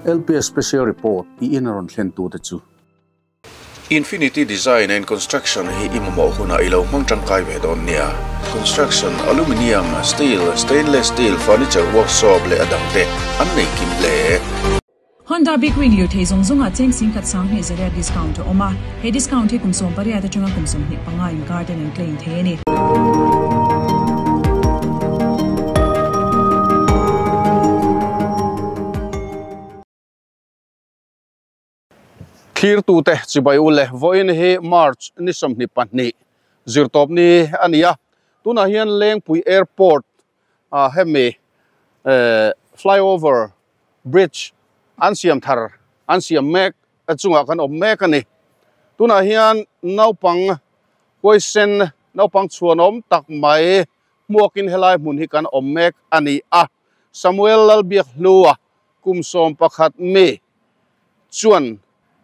LPS Special Report i in a rawn thlen tute chu. Infinity Design and Construction hi i mamawh hunah i lo hmang tangkai ve dawn nia. Construction, Aluminium, Steel, Stainless Steel, Furniture Workshop leh a dangte an nei kim hle. Honda Big Wing lirthei zawng zawngah cheng singkhat sanghnih zariat discount a awm a, he discount hi kum 18 atanga kum 25 inkar ten an claim thei a ni. Thlirtute chibai u le, vawiin hi March ni 22 zirtawp ni a ni a, tunah hian Lengpui Airport ah hemi flyover bridge an siam thar an siam mek chungah kan awm mek a ni. Tunah hian naupang huaisen naupang chhuanawm tak mai hmuakin helai hmun hi kan awm mek a ni a, Samuel Lalbiakhlua kum 11 mi chuan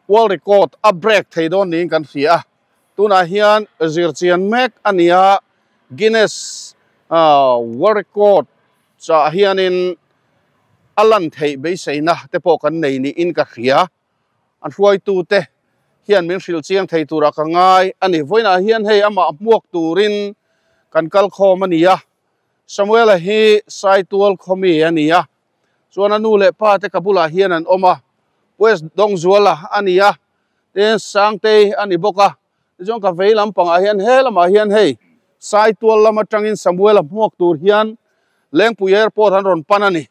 world record a break thei dawn niin kan hria a, tunah hian zirchian mek a ni a, Guinness World Record chah hianin a lan theih beiseina te pawh kan nei niin ka hria, an hruaitute hian min hrilh chiang thei turah ka ngai a ni. Vawiinah hian hei amah hmuak turin kan kal khawm a ni a, Samuela hi Saitual khawmi a ni a, Chuan a nu leh pa te ka bulah hian an awm a, West Dawngzuala a ni a, tin Sangtei a ni bawk a, tichuan ka vei lampangah hian he lamah hian hei Saitual lam atangin Samuela hmuak tur hian Lengpui Airport an rawn pan a ni.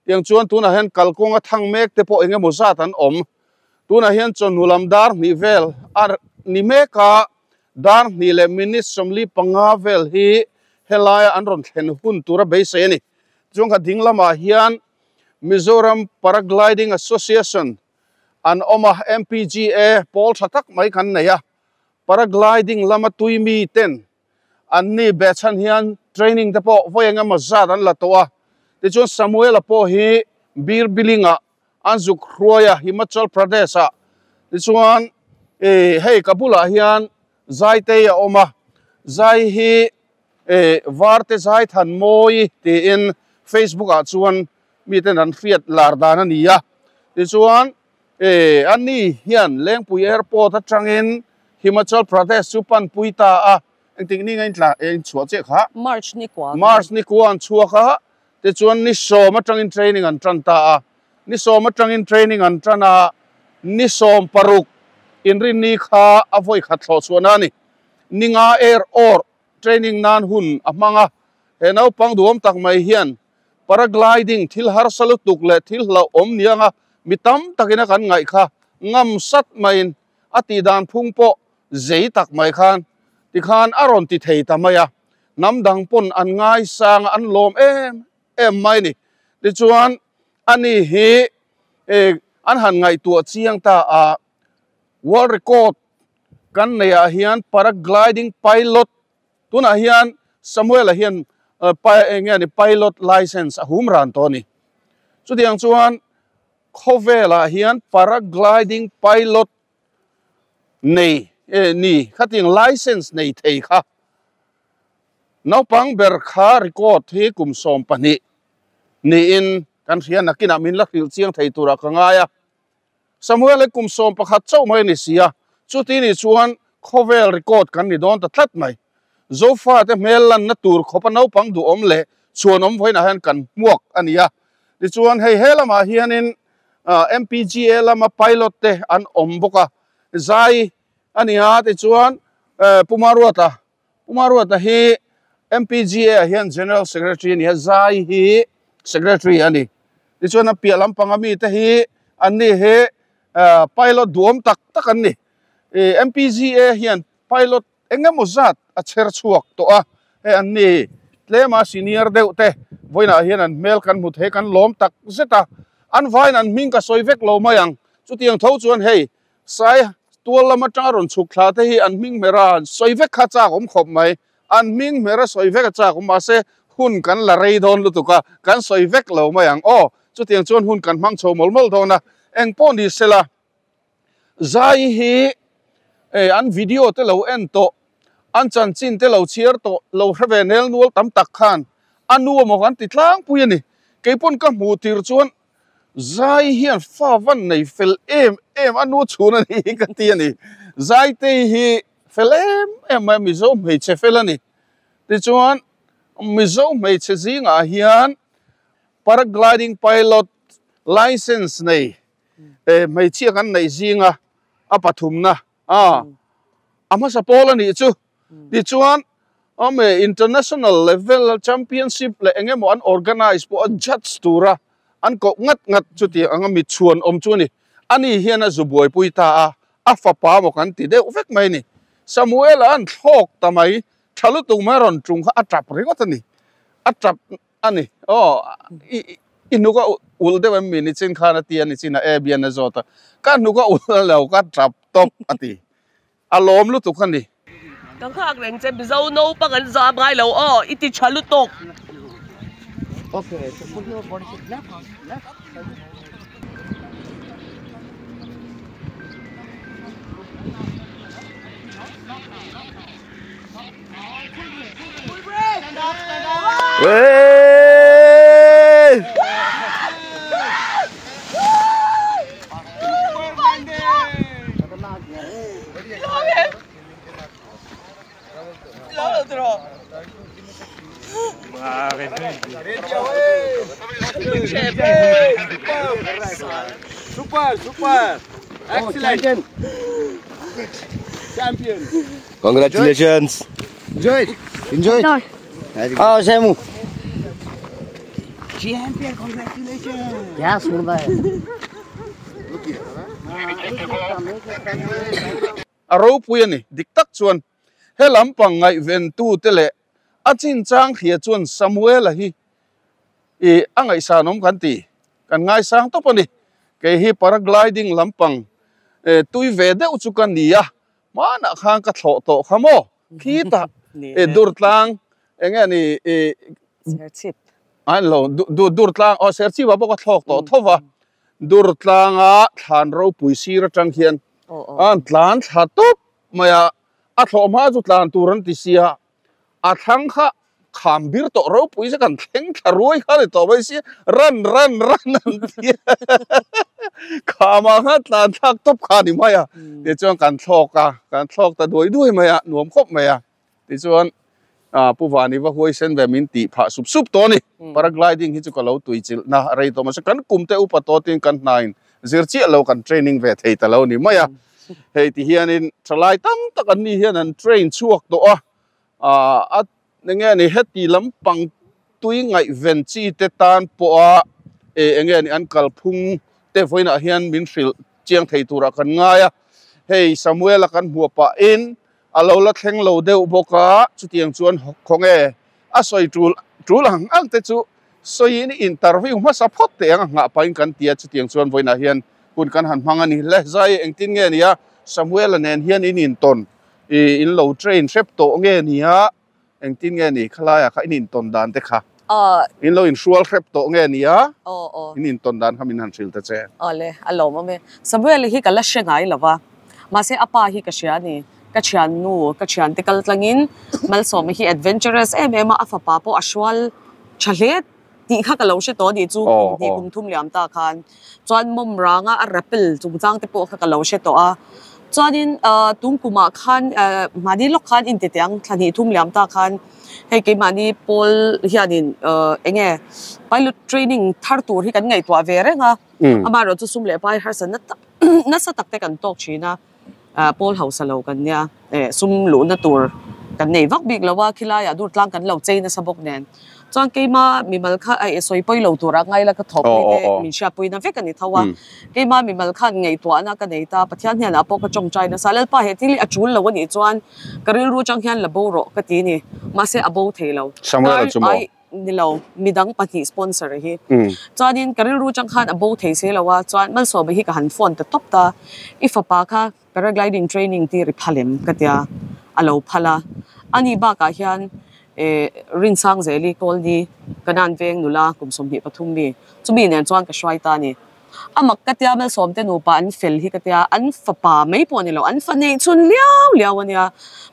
Tiang chuan tunah hian kalkawnga thang mek te pawh eng emaw zat an awm. Tunah hian chawhnu lam dar hnih vel a ni mek a, dar hnih leh minute 45 vel hi helaia an rawn thlen hun tura beisei a ni. Chuan kha ding lamah hian Mizoram Paragliding Association an awm a, MPGA pawl tha tak mai kan nei a, Paragliding lama tui mi ten an ni be chhan hian training te pawh vawi eng emaw zat an la tawh a, tichuan Samuel-a pawh hi Bir Billing-ah an zuk hruai a, Himachal Pradesh-ah, tichuan hei ka bulah hian Zaitei a awm a, Zai hi Eh, Varte Zaithan Mawi tiin Facebook ah chuan miten an hriat lar dan a ni a. Tichuan, eh, ani hian Lengpui Airport atangin Himachal Pradesh chu panpui ta a. Engtik ni nga intla eh inchhuah chiah kha? March ni kua. March ni kua an chhuak a, tichuan ni sawm atangin training an tan ta a. Ni sawm atangin training an tan a, ni 16 inrinni kha a vawi khat thlawh chhuahna a ni. Ninga air or training nan hun a hmang a, he naupang duhawm tak mai hian paragliding thil harsa lutuk leh thil hlauhawm nianga mi tam takin a kan ngaih kha ngam sat maiin a tih dan phung pawh zei tak mai khan tikhan a rawn ti thei ta mai a, hnam dang pawn an ngaisang a an lawm em em mai ni. Tichuan ani hi an han ngaihtuah chiang ta a, world record kan neih ah hian paragliding pilot tunah hian Samuel-a hian eng nge ni pilot license a hum ran tawh a ni. Chutiang chuan khawvelah hian paragliding pilot nei ni khatiang license nei thei kha naupang ber kha record hi kum 12 niin kan hria nakinah min la hrilh chiang thei turah ka ngai a. Samuel hi kum 11 chauh mai a ni si a, chuti ni chuan khawvel record kan ni dawn ta tlat mai. Zofa te hmel lanna tur khawpa naupang duhawm leh chhuanawm vawiinah hian kan hmuak a ni a. Tichuan hei he lamah hianin MPGA lama pilot te an awm bawk a, zai a ni a, tichuan Pu Maruata, Pu Maruata hi MPGA ah hian General Secretary a ni a, zai hi Secretary a ni. Tichuan a piah lampanga mite hi an ni hi pilot duhawm tak tak an ni. MPGA hian pilot eng emaw zat a chher chhuak tawh a, hei an ni tlema senior deuh te vawiinah hian an hmel kan hmu thei kan lawm tak zet a, an vaiin an hming ka sawi vek lo mai ang. Chutiang tho chuan hei Sai tual lam atanga rawn chhuk thla te hi an hming hmera an sawi vek kha chak awm khawp mai. An hming hmera sawi vek a chak awm mahse hun kan la rei dawn lutuk a, kan sawi vek lo mai ang aw. Chutiang chuan hun kan hmang chho mawlh mawlh dawn a, eng pawh ni sela zai hi an video te lo en tawh, an chanchin te lo chhiar tawh, lo hre ve nel nual tam tak khan a nu amaw kan ti tlangpui a ni. Keipawn ka hmuh tir chuan. Zai hian fa van nei fel em em a nu chhun a ni hi ka ti a ni. Zaitei hi fel em em mai a, Mizo hmeichhe fel a ni. Tichuan Mizo hmeichhe zingah hian Paragliding pilot license nei hmeichhia kan neih zinga a pathumna a a hmasa pawl a nih chu. Tichuan awm e international level championship leh eng emaw an organize pawh a judge tura an koh ngat ngat chuti anga mi chhuan awm chu a ni. Ani hian a zu buaipui ta a, a fapa maw kan ti deuh vek mai a ni. Samuel-a an thlawk ta mai, tha lutuk mai a rawn tung kha a tap ringawt a ni. A tap a ni. Aw, i i hnuk a ulh deuh em mi nichin khan a ti a nichin a Abian a zawt a, ka hnuk a ulh lo ka tap tawp a ti. A lawm lutuk a ni. Ka nghak reng che Mizo naupang an zam ngai lo aw i ti tha lutuk. Okay, so put your body left, left. Super, super. Excellent. Champion. Congratulations. Enjoy. Enjoy. Ah, Samu. Champion, congratulations. क्या सुन रहा है A ropui a ni. Dik tak chuan he lampang ngaihventute leh a chinchang hria chuan Samuela hi i a ngaihsanawm kan ti. Kan ngaisang tawp a ni. Kei hi paragliding lampang tui ve deuh chu ka ni a, hmanah khan ka thlawh tawh kha maw? Khitah Durtlang eng nge ni i Serchhip. An lo Durtlang aw Serchhip ah pawh ka thlawk tawh tho va. Durtlanga thlan ropui sir atang hian an tlan thla tawp mai a, a thlawh hma chu tlan tur an ti sia, a thlang kha kham bir tawh ropui se kan thleng thla ruai kha ni tawh mai sia, ran ran ran an ti a, khamah khan tlan thlak tawp kha a ni mai a, tichuan kan thlawk a, kan thlawk ta duai duai mai a, nuam khawp mai a. Tichuan Pu Vani va huaisen ve min tih phah sup sup tawh a ni. Paragliding hi chu ka lo tui chilh na rei tawh mahse kan kum te upa tawh tin kan hnain zir chiah lo kan training ve thei ta lo ni mai a. Hei ti hianin thalai tam tak an ni hian an train chhuak tawh a, a enge ni heti lampang tui ngaihven chi te tan pawha enge ni an kalphung te vawiinah hian min hrilh chiang thei turah kan ngai a. Hei Samuel-a kan hmuh pahin A lo la thleng lo deuh bawk a, chutiang chuan khawnge a sawi tul tul ang ang te chu sawiin interview hmasa phawt teh ang a nghah pahin kan ti a, chutiang chuan vawiinah hian hun kan han hmang a ni hle. Zai engtin nge nia Samuel-a nen hian in intawn i in lo train hrep tawh nge nia engtin nge ni khalaiah kha in intawn dan te kha in lo inhrual hrep tawh nge nia in intawn dan kha min han hrilh ta che. Awle, a lawmawm e. Samuel-a hi ka la hre ngai lo va. Mahse a pa hi ka hria a ni. Ka thiannu, ka thiante kal tlangin Malsawma hi adventurous em em a, a fapa pawh a hrual tha hle tih kha ka lo hre tawh a nih chu kum hnih kum thum liam ta khan. Chuan mawm ranga a rappel chungchang te pawh kha ka lo hre tawh a. Chuanin tung kumah khan mahni lawk khan intitiang thla hnih thum liam ta khan hei keimahni pawl hianin eng nge pilot training thar tur hi kan ngaihtuah ve reng a. Amaherawhchu sum leh pai harsatna tak Nasa tak te kan tawk thin a, pawl hausa lo kan nia, sum luhna tur kan nei vak bik lo a, khilaiah dur tlang kan lo chei nasa bawk nen. Chuan keima mimal kha eh sawi pawi lo tura ngai la ka thawhpui te min hriatpuina vek a ni tho a, keima mimal khan ngaihtuahna ka nei ta, Pathian hnenah pawh ka tawngtai nasa, Lalpa he thil hi a tul lo a nih chuan ka rilru atang hian la bo rawh ka ti ni, mahse a bo thei lo. Samuel-a chu maw? Ni lo, midang pahnih sponsor hi. Chuanin ka rilru chang khan a bo thei si lo a, chuan Malsawma hi ka han phone ta tawp ta, i fapa kha paragliding training tir i phal em? ka tia, a lo phal a. Ani bakah hian eh Rinsangzeli Kawlni Kanan veng nula kum 23 mi, chumi nen chuan ka hruai ta a ni. A mak ka tia Malsawmte nupa an fel hi ka tia, an fapa mai pawh a ni lo, an fa neih chhun liau liau a nia.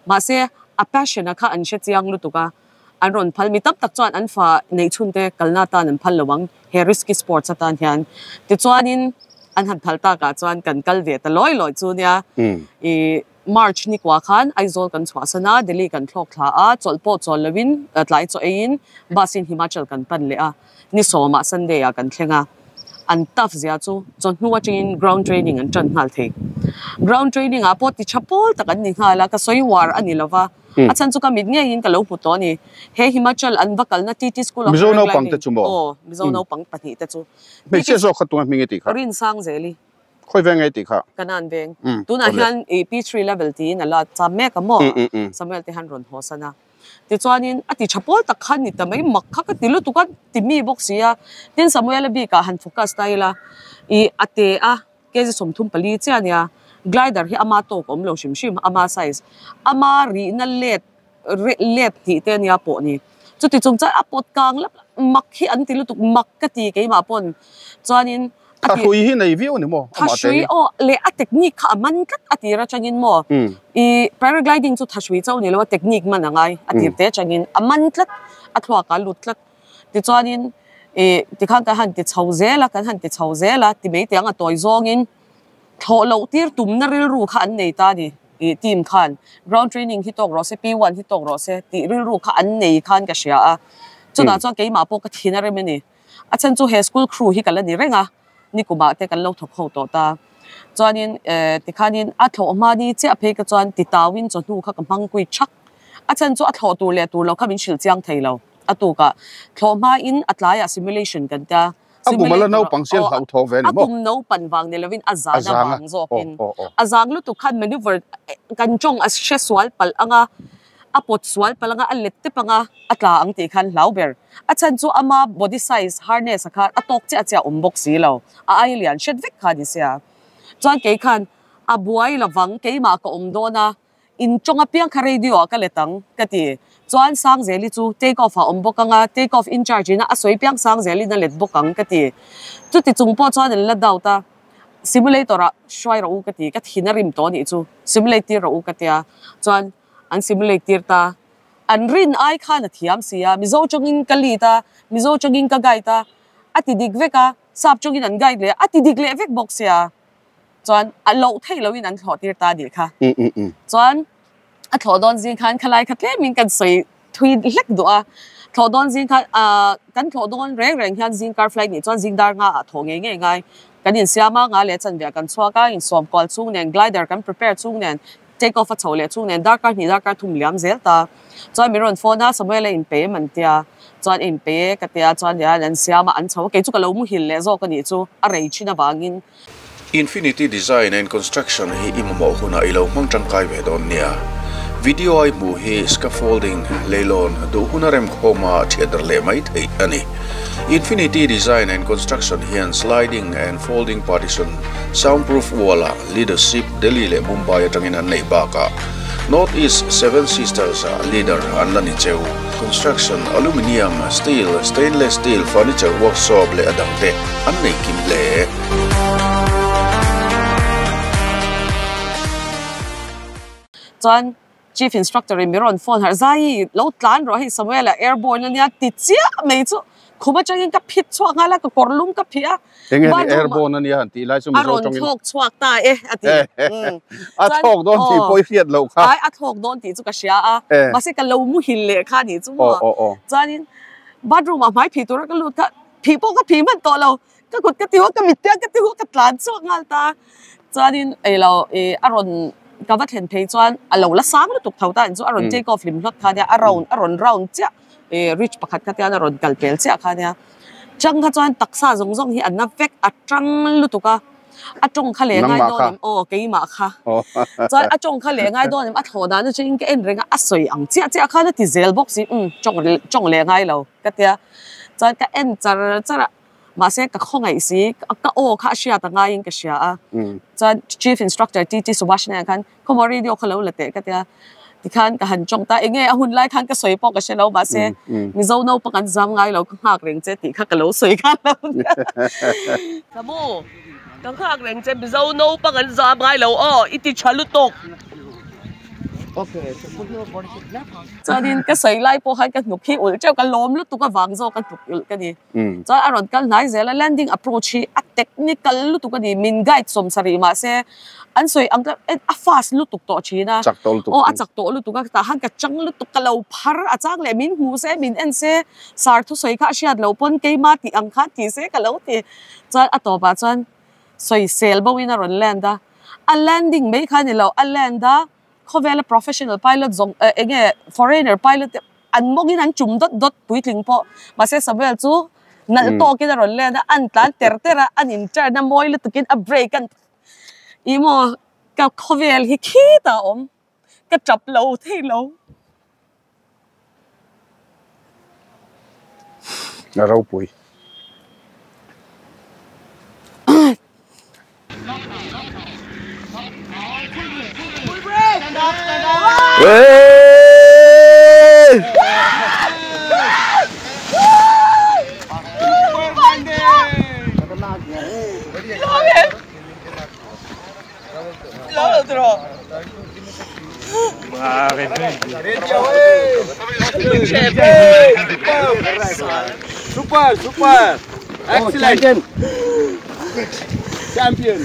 Mahse a passion a kha an hre chiang lutuk a. An rawn phal mi tam tak chuan an fa neih chhun te kalna atan an phal lo ang he risky sports atan hian. Tichuanin an han phal takah chuan kan kal ve ta lawi lawi chu nia. Ih March ni kua khan Aizawl kan chhuahsan a, Delhi kan thlawk thla a, chawlh pawh chawl loin tlai chaw eiin bus in Himachal kan pan leh a, ni sawmah Sunday ah kan thleng a. An tough zia chu chawhnu atangin ground training an tan nghal thei. Ground training ah pawh ti tha pawl tak an ni nghal a, ka sawi uar a ni lova, a chhan chu ka mit ngeiin ka lo hmu tawh a ni. He Himachal an va kalna TT School of Mizo naupang te chu maw? Aw, Mizo naupang pahnih te chu. Hmeichhia zawk kha tunga hming i tih kha? Rinsangzeli. Khawi veng nge i tih kha? Kanan veng. Tunah hian i P3 level tiin a la cham mek a maw? Samuel te hian rawn haw san a. Tichuanin a ti tha pawl tak kha ni ta mai, mak kha ka ti lutuk a, ti mi bawk si a. Tin Samuel-a bikah han focus ta ila, i a te a, kg 34 chiah a nia, glider hi ama tawk a awm lo hrim hrim, ama size, ama rihna let let hnih te a nia pawh ni. Chuti chung chuan a pawt kang lap lap, mak hi an ti lutuk, mak ka ti keimah pawn. Chuanin a ti. Thahrui hi nei viau a ni maw? Amah te hi. Thahrui aw leh a technique kha a man tlat a tir atangin maw? I paragliding chu thahrui chauh ni lo a technique man a ngai a tir te atangin a man tlat, a thluak ah a lut tlat. Tichuanin i tikhan kan han ti chho zel a, kan han ti chho zel a ti mai tiang a tawi zawngin thlawh loh tir tumna rilru kha an nei ta a ni i team khan. Ground training hi tawk rawh se, P1 hi tawk rawh se tih rilru kha an nei khan ka hria a. Chutah chuan keimah pawh ka thin a rem a ni. A chhan chu he school crew hi ka la ni reng a, nikumah te kan lo thawk ho tawh ta. Chuanin eh tikhanin a thlawh hma ni chiah phei ka chuan titauin chawhnu kha ka hmang kui thak. A chhan chu a thlawh tur leh tur lo kha min hrilh chiang thei lo. A tukah thlawh hmain a tlaiah simulation kan tia. A kum a la naupang sian hlauh thaw ve a ni maw? A kum naupan vang ni lovin a zan a vang zawkin. A zang lutuk khan maneuver kan tawng a hre sual palh ang a, a pawt sual palh ang a, a let tep ang a, a tla ang tih khan hlau ber. A chhan chu ama body size harness a kha a tawk chiah chiah awm bawk si lo. A ai lian hret vek kha ni sia. Chuan kei khan a buai lovang keimah ka awm dawn a, In tawng apiang kha radio ah ka let ang, ka ti. Chuan Sangzeli chu take off ah awm bawk ang a, take off in charge in a sawi piang Sangzeli'n a let bawk ang, ka ti. Chuti chung pawh chuan an la doubt a, simulator ah hruai rawh u ka ti, ka thin a rim tawh anih chu, simulate tir rawh u ka tia. Chuan an simulate tir ta. An rin ai khan a thiam si a, Mizo tawngin ka lead a, Mizo tawngin ka guide a, a ti dik vek a, Sap tawngin an guide leh a, a ti dik leh vek bawk sia. Chuan a loh theih loin an thlawh tir ta a nih kha. Chuan a thlawh dawn zing khan khalai kha tlemin kan sawi thui hlek duh a. Thlawh dawn zing khan ah kan thlawh dawn reng reng hian zing car flight nih chuan zing dar nga ah thawh ngei ngei ngai. Kan insiam a, nga leh chanve ah kan chhuak a, insawm kual chung nen glider kan prepare chung nen take off a chho leh chung nen darkar hnih darkar thum liam zel ta. Chuan min rawn phone a, Samuel a inpe em an tia. Chuan a inpe e ka tia, chuan hian an siam a, an chho a, kei chu ka lo muhil leh zawk a nih chu a rei thin avangin. Infinity Design and Construction hi i mamawh hunah i lo hmang tangkai ve dawn nia. Video a i hmuh hi scaffolding, leilawn, duh huna remkhawma thiatder leh mai theih a ni. Infinity Design and Construction hian sliding and folding partition, soundproof wall-ah leadership Delhi leh Mumbai atangin an neih bakah North East Seven Sisters-ah leader an la ni cheu. Construction, aluminium, steel, stainless steel, furniture workshop leh a dangte an nei kim hle. Chuan Chief Instructor in min rawn phone harh, Zai, lo tlan rawh hei Samuel a airborne a nia ti chiah mai chu khum atangin ka phit chhuak nghal a, ka kawr lum ka phih a. Enge ni airborne a nia han tih lai chu Mizo tawngin. A rawn thlawk chhuak ta e a ti. A thlawk dawn tih pawh i hriat loh kha. Ai a thlawk dawn tih chu ka hria a, mahse ka lo muhil leh kha nih chu maw. Chuanin bathroom ah hmai phih tura ka lut kha phih pawh ka phih hman tawh lo. Ka kut ka ti hu a, ka mittiang ka ti hu a, ka tlan chhuak nghal ta. Chuanin ei lo ih a rawn ka va thlen phei chuan a lo la sang lutuk tho ta chu a rawn take off hlim hlawt kha nia, a round a rawn round chiah ih ridge pakhat kha tian a rawn kal pel chiah kha nia. Chang kha chuan taksa zawng zawng hi a na vek a tang lutuk a, a tawng kha leh ngai dawn em aw keimah kha. Chuan a tawng kha leh ngai dawn em a thlawh dan atangin ka en reng a, a sawi ang chiah chiah khan a ti zel bawk si umm tawng tawng leh ngai lo ka tia. Chuan ka en char char a. Mahse ka khawngaih si, ka aw kha a hriat a ngaiin ka hria a. Chuan Chief Instructor TT Subhash nen khan khawmaw radio kha lo la teh ka tia. Tikhan ka han tawng ta, enge a hun lai khan ka sawi pawh ka hre lo, mahse Mizo naupang an zam ngai lo, ka nghak reng che tih kha ka lo sawi khan lo nia. Samu, ka nghak reng che, Mizo naupang an zam ngai lo aw, i ti tha lutuk. Okay, so put your body shape left. Chuanin ka sawi lai pawh khan ka hnuk hi ulh teuh ka lawm lutuk avang zawk ka hnuk ulh ka ni. Chuan a rawn kal hnai zel a, landing approach hi a technical lutuk a ni, min guide sawm sarih mahse an sawi ang kha a fast lutuk tawh thin a. Chak tawh lutuk. Aw a chak tawh lutuk a, tah khan ka chang lutuk ka lo phar a chang leh min hmu se min en se sar thusawi kha a hriat loh pawn keima tih ang khan ti se ka lo ti. Chuan a tawpah chuan sawisel bo in a rawn land a, a landing mai kha a ni lo, a land a khawvela professional pilot zawng eh eng nge foreigner pilot te an mawngin an chum dawt dawt puitling pawh mahse Samuel chu nalh tawkin a rawn len a an tlan ter ter a an in turn a mawi lutukin a brake an ih maw ka khawvel hi khitah a awm ka tap lo thei lo. A ropui. Super, super. Excellent. Champion.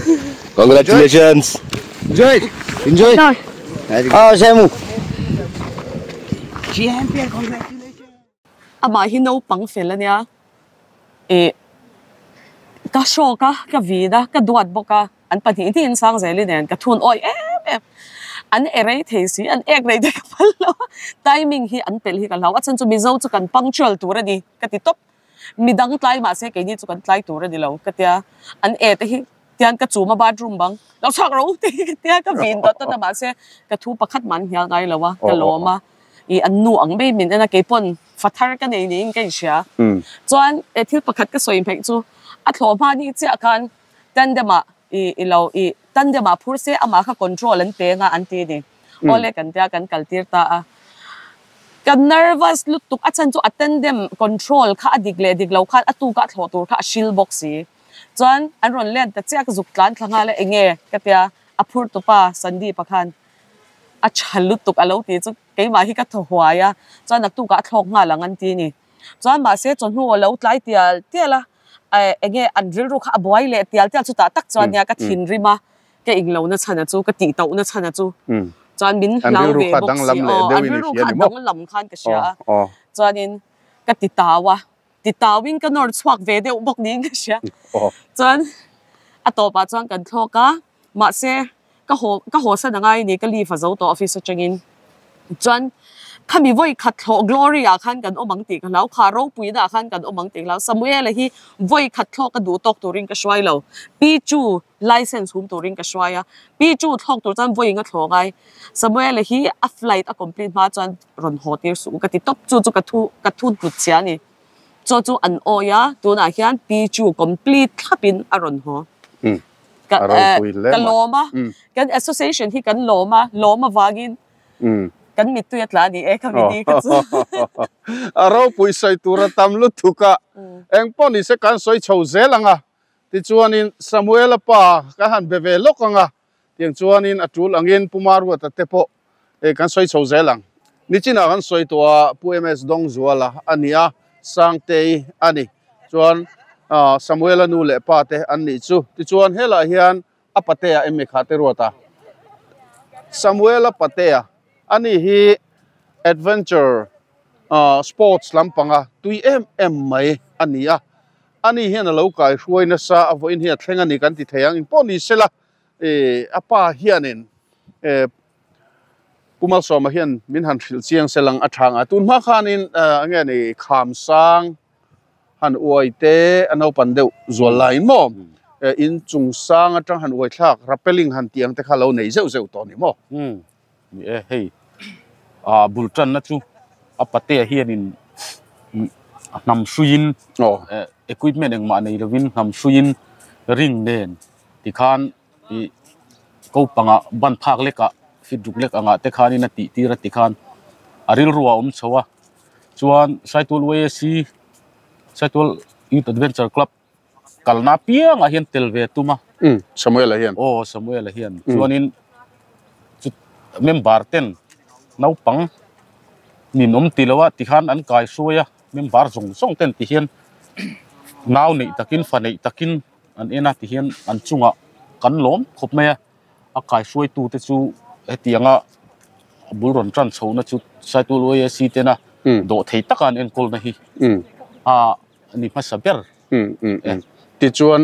Congratulations. Enjoy. Enjoy. Oh, Samu. Champion, congratulations. Amah hi naupang fel a nia. Ih, ka hrawk a, ka vin a, ka duat bawk a, an pahnih hnih in sang zel i nen ka thun awih em em. An e rei thei si, an ek rei te ka phal lo a, timing hi an pelh hi ka hlau. A chhan chu Mizo chu kan punctual tur a ni ka ti tawp. Midang tlai mahse keini chu kan tlai tur a ni lo ka tia. An e te hi tian ka chum a bathroom bang, lo chhuak ro ti ka tia ka vin dawt dawt a mahse ka thu pakhat mah an hnial ngai lo a, ka lawm a. Ih, an nu ang mai min en a, keipawn Fathar ka nei niin ka inhria. Chuan he thil pakhat ka sawi hmeih chu a thlawh hma ni chiah khan tandem ah i i lo i tandem ah phur se amah kha control an pe anga an ti ni. Awle kan tia kan kal tir ta a. Ka nervous lutuk a chhan chu a tandem control kha a dik leh dik lo khan a tuk ah thlawh tur kha a hril bawk si. Chuan an rawn len ta chiah ka zuk tlan thla nghal a enge ka tia a phur tupa Sandeep-a khan a tha lutuk a lo ti chu Keimah hi ka thaw huai a, chuan naktukah a thlawk nghal ang an ti ni. Chuan mahse chawhnu a lo tlai tial tial a, eng nge an rilru kha a buai leh tial tial chutah tak chuan nia ka thinrim a, ka englo na chhan a chu, ka tih tauhna chhan a chu. Chuan min hlau ve bawk si aw, an rilru kha a danglam khan ka hria a, chuanin ka ti tau a, ti tauin ka nawr chhuak ve deuh bawk niin ka hria. Chuan a tawpah chuan kan thlawk a. Mahse, ka haw ka haw san angai ni, ka leave a zo tawh office atangin. Chuan khami vawi khat thlawh Glory ah khan kan awm ang tih ka hlau, kha ropuina ah khan kan awm ang tih ka hlau. Samuel-a hi vawi khat thlawk a duh tawk turin ka hruai lo, Pi Chu license hum turin ka hruai a, Pi Chu thlawk tur chuan vawi inga thlawh ngai. Samuel-a hi a flight a complete hma chuan rawn haw tir suh u ka ti tawp, chu chu ka thu ka thu tlut chhia a ni. Chaw chu an awi a, tunah hian Pi Chu complete thlapin a rawn haw. Ka ka lawm a, kan association hi kan lawm a, lawm avangin kan mittui a tla a ni e ka mini ka chu. A ropui sawi tur a tam lutuk a, eng pawh ni se kan sawi chho zel ang a, tichuanin Samuela pa ka han be ve lawk ang a, tiang chuanin a tul angin Pu Maruata te pawh kan sawi chho zel ang. Nichinah kan sawi tawh a, Pu MS Dawngzuala a ni a, Sangtei a ni. Chuan Samuela nu leh pa te an nih chu. Tichuan helaiah hian a patea em mi kha te ruat a. Samuela patea a ni hi adventure sports lampanga tui em em mai a ni a. Ani hian a lo kai hruai nasa a vawiin hi a thleng a ni kan ti thei ang. Engpawh ni sela a pa hianin Pu Malsawma hian min han hrilh chiang se lang a tha ang a. Tun hma khanin enge ni kham sang han uai te a naupan deuh zual laiin maw in chung sang atang han uai thlak rappelling han tih ang te kha lo nei zeuh zeuh tawh a ni maw? Ni e, hei bul tanna chu a patea hianin a hnam hruiin equipment engmah nei lovin hnam hruiin ring nen tikhan ih ko pangah ban phak lekah fit ruk lek angah te khanin a tih tir a tikhan a rilru a awm chho a chuan Saitual YAC Saitual Youth Adventure Club kalna apiangah hian tel ve a tum a. Samuel-a hian. Aw Samuel-a hian chuanin chu member ten. Naupang nin awm ti lo a tikhan an kai hruai a member zawng zawng ten ti hian nau neih takin fa neih takin an en a ti hian an chungah kan lawm khawp mai a a kai hruai tu te chu hetianga bul rawn tan chho na chu Saitual YAC tena dawh thei taka an enkawl na hi a ni hmasa ber. Tichuan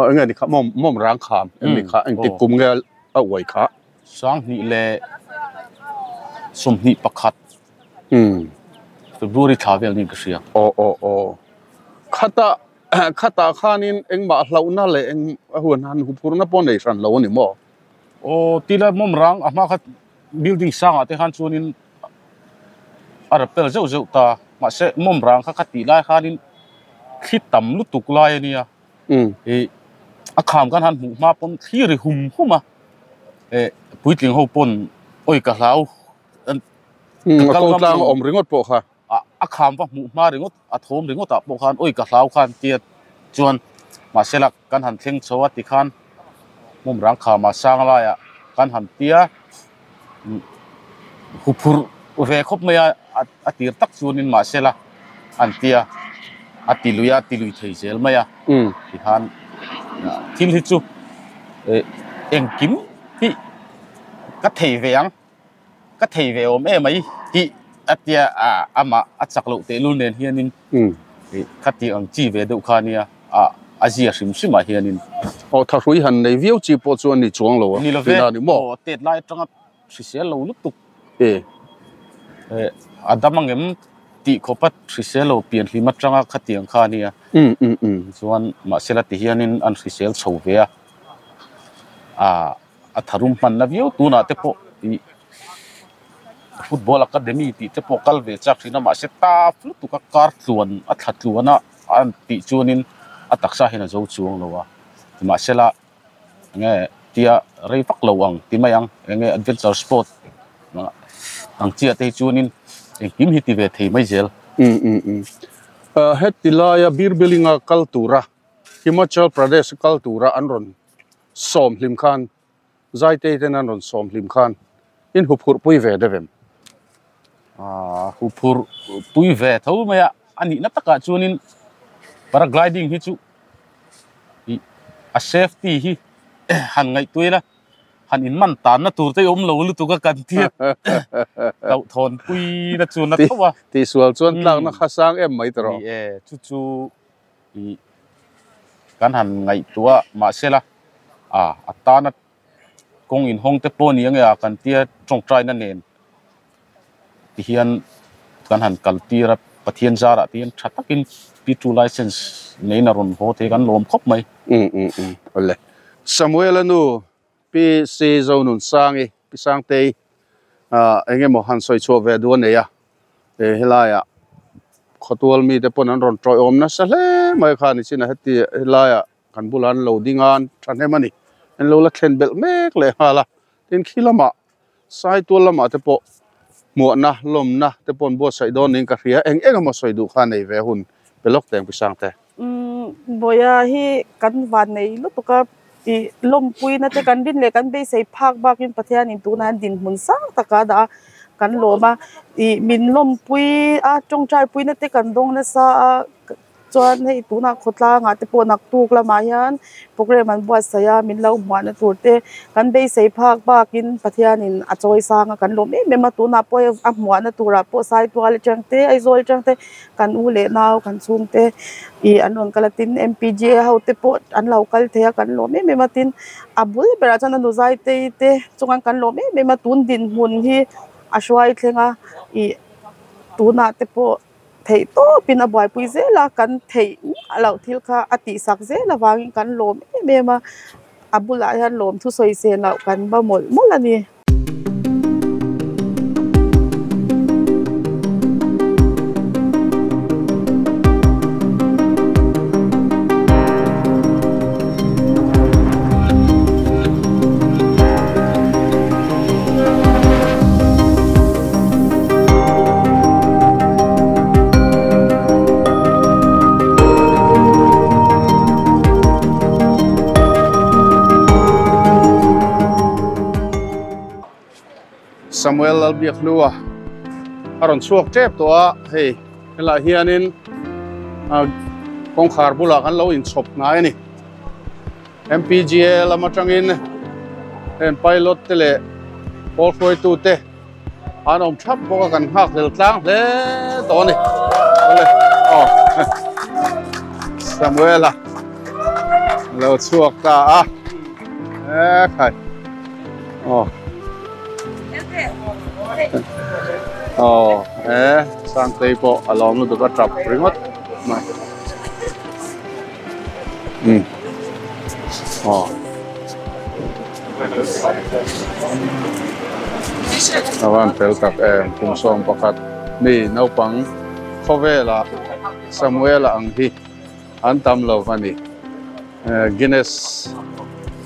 enge ni kha mawm mawm rang kham eng ni kha engtik kum nge a uai kha? 2021 February thla vel niin ka hria. Aw aw aw khata khata khanin engmah hlauhna leh eng a huan han huphurna pawh nei hran lo a ni maw? Aw tila mawm rang a hma kha building sangah te khan chuanin a rappel zeuh zeuh ta mahse mawm rang kha kha tih lai khanin thli tam lutuk lai a nia ih a kham kan han hmuh hma pawn thli ri hum hum a eh puitling ho pawn awi ka hlau ka kal ngam lo awm ringawt pawh kha a kham va hmuh hma ringawt a thawm ringawt ah pawh khan awi ka hlau khan tia chuan mahse la kan han thleng chho a tikhan mawm rang kham a sang laiah kan han tia huphurh ve khawp mai a a tir tak chuanin mahse la an tia a ti lui a ti lui thei zel mai a tikhan thil hi chu engkim hi ka thei ve ang ka thei ve awm em mai tih a tia amah a chak loh tehlul nen hianin khati ang chi ve deuh kha ania a zia hrim hrim ah hianin. Aw thahrui han nei viau chi pawh chu a ni chuang lo a ni love tina ni maw? Aw tet lai atanga hrisel lo lutuk a dam angem tih khawpa hrisel lo pian hlim atanga khatiang kha ania chuan mahsela ti hianin an hrisel chho ve a a tharum hmanna viau tunah te pawh ih football academy tih te pawh kal ve chak thin a mahse taf lutuk a kar tluan a thla tluan a an tih chuanin a taksa hian a zo chuang lo a mahsela enge tia rei vak lo ang ti mai ang enge adventure sport ang chiah te hi chuanin engkim hi ti ve thei mai zel. Heti laia Birbilinga kal tura Himachal Pradesh kal tura an rawn sawm hlim khan Zaitei ten an rawn sawm hlim khan in huphurh pui ve deuh em? Aaa huphurh pui ve tho mai a, a nihna takah chuanin paragliding hi chu ih a safety hi han ngaihtuah ila han in man tanna tur te awm lo lutuk a kan tia hlauhthawn pui na chu na tho a. Tihsual chuan tlakna kha sang em mai tawh. Ni e, chu chu ih kan han ngaihtuah mahsela a a tana kawng inhawng te pawh a ni ang e a kan tia tawngtaina nen tihian kan han kal tir a Pathian zarah te hian tha takin P2 license neiin a rawn haw thei kan lawm khawp mai. Um um um awle. Samuel-a nu Pi Si Zonunsangi Pi Sangtei ah eng emaw han sawi chhuah ve duh a nei a. He helaiah khawtual mite pawn an rawn tawih awm nasa hle mai kha ni chin a heti helaiah kan bulah an lo ding a an thahnem a ni an lo la thlen belh mek leh nghal a tin khi lamah saitual lamah te pawh hmuahna lawmna te pawh an buatsaih dawn niin ka hria eng eng emaw sawi duh kha nei ve hun pe lawk teng pi sang te. Umm Bawia hi kan van nei lutuk a ih lawmpuina te kan rin leh kan beisei phak bakin Pathianin tunah hian dinhmun sang taka dah a kan lawm a ih min lawmpui a tawngtaipuina te kan dawng nasa a Chuan hei tunah khawtlangah te pawh naktuk lamah hian program an buatsaih a min lo hmuahna tur te kan beisei phak bakin Pathianin a chawi sang a kan lawm em em a tunah pawh hei a hmuahna turah pawh Saitual atang te Aizawl atang te kan u leh nau kan chhungte ih an rawn kal a tin M_P_G_A ho te pawh an lo kal thei a kan lawm em em a tin a bul berah chuan a nu Zaitei te chuan kan lawm em em a tun dinhmun hi a hruai thleng a ih tunah te pawh. Theih tawpin a buaipui zel a, kan theih miah loh thil kha a tihsak zel avangin kan lawm em em a, a bulah hian lawm thusawi sen loh kan va mawlh mawlh a ni. Samuel Lalbiakhlua a rawn chhuak tep tawh a, hei helaiah hianin kawngkhar bulah kan lo inchhawp hnai a ni. MPGA lam atangin heng pilot te leh pawl hruaitu te an awm thap bawk a kan nghak hlel tlang hle tawh a ni. Awle aw Samuela lo chhuak ta a e khai aw aw e Sangtei pawh a lawm lutuk a tap ringawt mai. Um aw a van fel tak em kum sawm pakhat mi naupang khawvela Samuela ang hi an tam lo a ni Guinness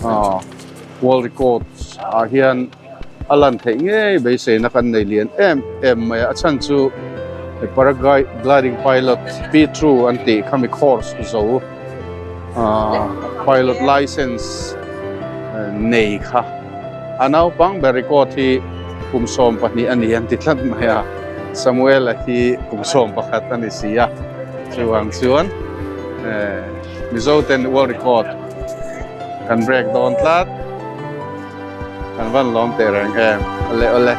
ah world record ah hian a lan theih ngei beiseina kan nei lian em em mai a a chhan chu paragliding pilot P2 an tih khami course zo ah pilot license nei kha a naupang ber record hi kum 12 a ni an ti tlat mai a Samuel-a hi kum 11 a ni si a chuvang chuan eh Mizo ten world record kan break dawn tlat. Kan van lawm teh reng em awle awle.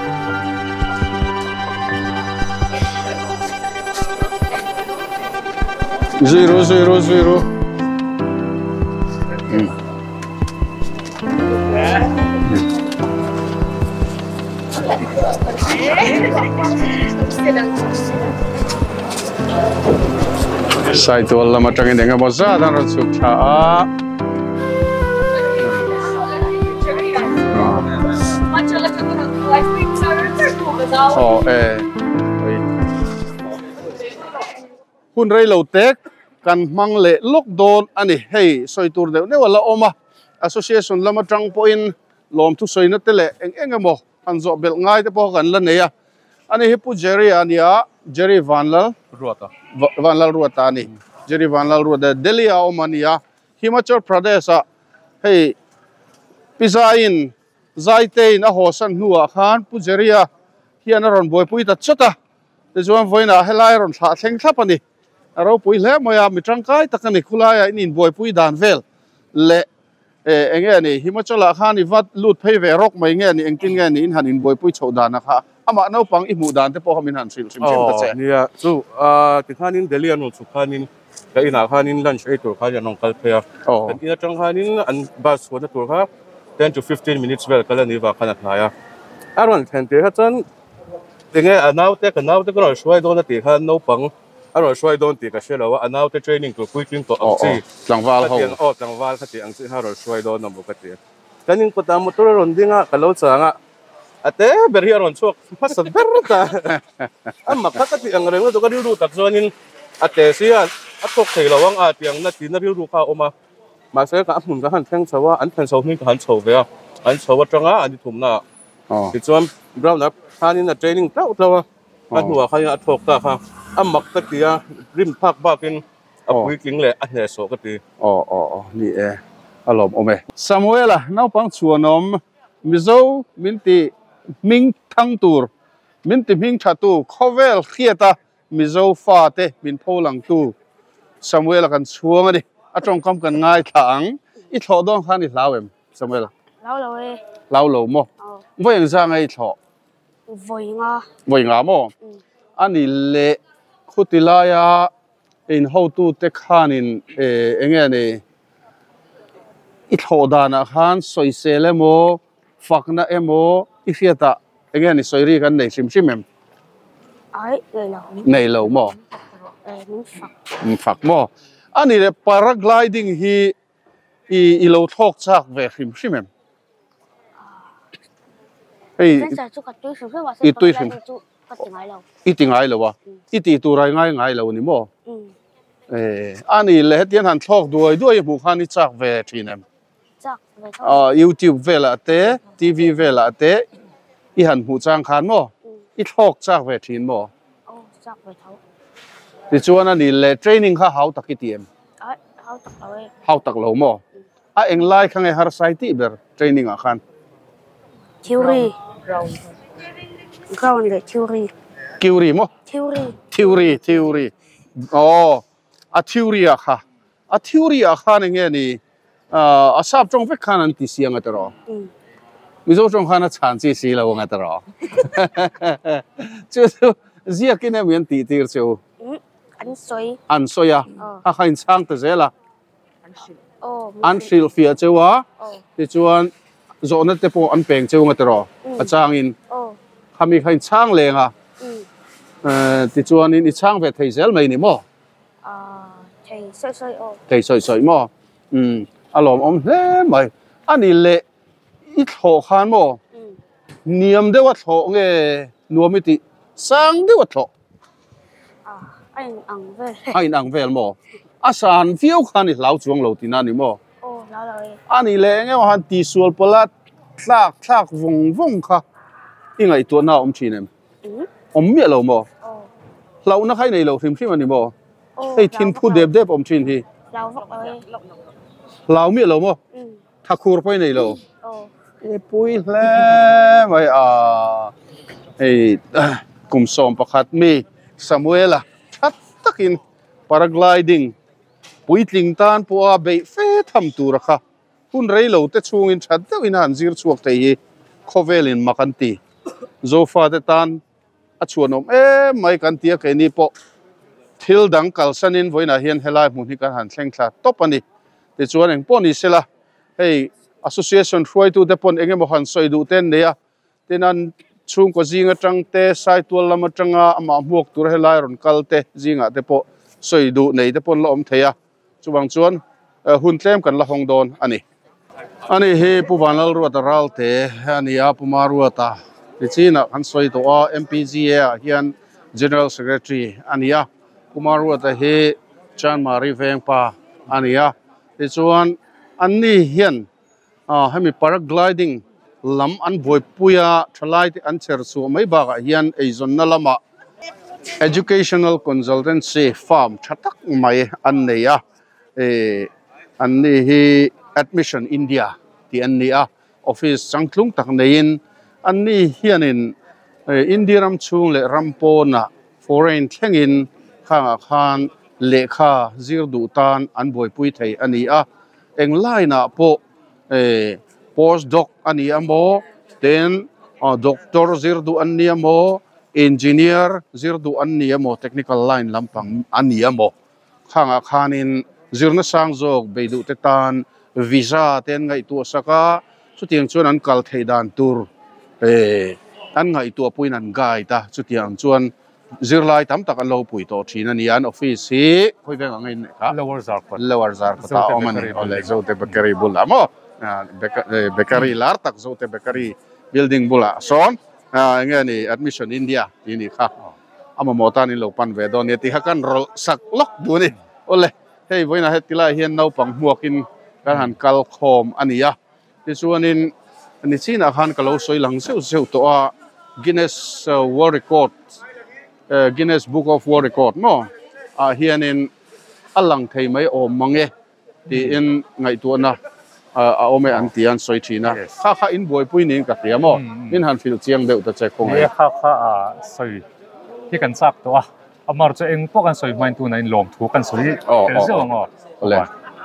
Zui ru zui ru zui ru. Hmm. Saitual lam atangin eng emaw zat an rawn chhuk thla a. Aw e hun rei lo tek kan hmang leh lawk dawn a ni hei sawi tur deuh deuh a la awm a association lam atang pawhin lawmthu sawina te leh eng eng emaw han zawh belh ngai te pawh kan la nei a ani hi Pu Jerry a nia Jerry Vanlal Ruata Vanlal Ruata a ni Jerry Vanlal Ruata Delhi a awm a nia Himachal Pradesh ah hei Pi Zaiin Zaitein a haw san hnuah khan Pu Jerry-a hian a rawn buaipui ta chawt a, tichuan vawiinah helai a rawn thlah thleng thlap a ni. A ropui hle mai a, mi tangkai tak a ni. Khulaiah in inbuaipui dan vel leh eh eng nge ni Himachal-ah khan i va lut phei ve rawk mai nge ni engtin nge ni in han inbuaipui chhoh dan a kha amah naupang i hmuh dan te pawh kha min han hrilh hrim hrim ta che. Aw nia, chu tikhanin Delhi an rawn chhuk khanin Ka inah khanin lunch ei tur khan an rawn kal phei a, kan in atang khanin an bus chhuahna tur kha 10 to 15 minutes vel kal a nih vang khan a hnai a. A rawn thlen tir kha chuan tinge a naute ka naute ka rawn hruai dawn a tih khan naupang a rawn hruai dawn tih ka hre lo a, a naute training tur puitling tawh ang chi tlangval ho aw tlangval kha tih ang chi kha a rawn hruai dawn a maw ka ti. Kan in kawtah motor a rawn ding a, ka lo chang a, a te ber hi a rawn chhuak hmasa ber ta a mak kha ka tih ang reng lutuk a rilru tak chuanin a te si a a thawk thei lo ang a tih ang na tina rilru kha a awm a mahse ka a hmun ka han thleng chho a an thlen chho hming ka han chho ve a an chho atanga an i thumna ah tichuan ground ah khanin a training tlauh tlauh a a hnuah khanin a thawk ta kha a mak ka ti a rim phak bakin a puitling leh a hnehsawh ka ti. Aw aw aw ni e a lawmawm e. Samuela naupang chhuanawm Mizo min ti hming thang tur, min ti hming tha tu, khawvel hriata Mizo fate min pho lang tu Samuela kan chhuang a ni. A tawngkam kan ngaithla ang. I thlawh dawn khan i hlau em Samuela? Hlau lo e. Hlau lo maw? Vawi eng zang a i thlawh? Vawi nga. Vawi nga maw? A ni leh khuti laia in hotute khanin eng nge ni i thlawh danah khan sawisel emaw fakna emaw i hriatah eng nge ni sawi ri kan nei hrim hrim em? Ai nei lo. Nei lo maw? Min fak. Min fak maw? A ni leh paragliding hi i i lo thlawk chak ve hrim hrim em? Hei i tui hrim hrim. I ti ngai lo a, i tih tur a i ngai ngai lo ni maw? Eh, a ni le hetiang han thlawk duai duai i hmuh khan i chak ve thin em? Chak ve tho. Ah, YouTube velah te, TV velah te i han hmuh chang khan maw? I thlawk chak ve thin maw? Aw, chak ve tho. Tichuan a ni le training kha hau tak i ti em? Ai, hau tak lo e. Hau tak lo maw? A englai kha nge harsai tih ber training ah khan? Theory. Ground. Ground leh theory. Theory maw? Theory. Theory, theory. Aw, a theory ah kha. A theory ah khan eng nge ni? A sap tawng vek khan an ti si anga tawh. Mizo tawng khan a chhan chi si lo anga tawh. Chu chu ziakin emaw an tih tir chu? An sawi. An sawi a. A kha inchhang ta zel a. An hrilhfiah cheu a, tichuan zawhna te pawh an peng cheu nga tiraw a changin khami kha in chhang leng a, tichuanin i chhang ve thei zel mai ni maw? Thei sawi sawi aw. Thei sawi sawi maw? A lawmawm hle mai. A ni leh i thlawh khan maw niam deuha thlawh nge nuam i tih sang deuha thlawh? A in ang vel. A in ang vel maw? A san viau khan i hlau chuang lo tihna a ni maw? Aw, hlau lo e. A nih leh eng emaw han tihsual pawlh a tlak thlak vawng vawng kha i ngaihtuahna a awm thin em? Awm miah lo maw? Aw. Hlauhna kha i nei lo hrim hrim a ni maw? Aw, Hei thin phu dep dep awm thin hi. Hlau vak lo e. Hlau miah lo maw? Thakhur pawh i nei lo. Aw. I pui hle mai a. Hei kum 11 mi Samuela that takin paragliding puitling tan pawha beih fe tham tura kha hun rei lo te chhungin that deuhin a han zir chhuak thei hi khawvelin mak an ti. Zofate tan a chhuanawm em mai kan ti a, keini pawh thil dang kalsanin vawiinah hian helai hmun hi kan han thleng thla tawp a ni. Tichuan eng pawh ni sela, hei association hruaitute pawn eng emaw han sawi duh te an nei a, tin an chhungkaw zing atang te, Saitual lam atanga amah hmuak tur helai rawn kal te zingah te pawh sawi duh nei te pawn la awm thei a, chuvang chuan hun tlem kan la hawng dawn a ni. Ani hi Pu Vanlalruata Ralte a ni a, Pu Maruata nichinah kan sawi tawh a, MPGA ah hian General Secretary a ni a, Pu Maruata hi Chanmari Vengpa a ni a, tichuan anni hian hemi paragliding lam an buaipui a, thalai te an chher chhuah mai bakah hian eizawnna lamah Educational Consultancy firm tha tak mai an nei a. eh an ni hi admission India tih an ni a office changtlung tak neiin an ni hianin eh India ram chhung leh ram pawnah foreign thlengin khangah khan lehkha zir duh tan an buaipui thei a ni a eng line ah pawh eh post doc a ni a maw ten doctor zir duh an ni a maw engineer zir duh an ni a maw technical line lampang a ni a maw. Khangah khanin zirna sang zawk bei duh te tan visa te an ngaihtuah sak a, chutiang chuan an kal theih dan tur eh an ngaihtuah puiin an guide a, chutiang chuan zirlai tam tak an lo pui tawh thin a ni. An office hi khawi veng ang a inneih kha? Lower Zarkawt. Lower Zarkawt ah a awm a ni. Awle Zote Bakery bulah maw? Bakery lar tak Zote Bakery building bulah sawn eng nge ni Admission India tih a nih kha. A mamawh tan in lo pan ve dawn nia tih kha kan rawlh sak lawk duh a ni. Awle, hei vawiinah heti lai hian naupang hmuakin kan han kal khawm a ni a. Tichuanin nichinah khan ka lo sawi lang zeuh zeuh tawh a, Guinness World Record, Guinness Book of World Record maw ah hianin a lang thei mai awm mang e. Tiin ngaihtuahna a awm e an ti a, an sawi thin a. Kha kha in buaipui niin ka hria maw? Min han hrilh chiang deuh ta che khawngaih. Nia, kha kha a sawi hi kan chak tawh a, amar chu eng pawh kan sawi hmain tunah in lawmthu kan sawi tel zeuh ang aw.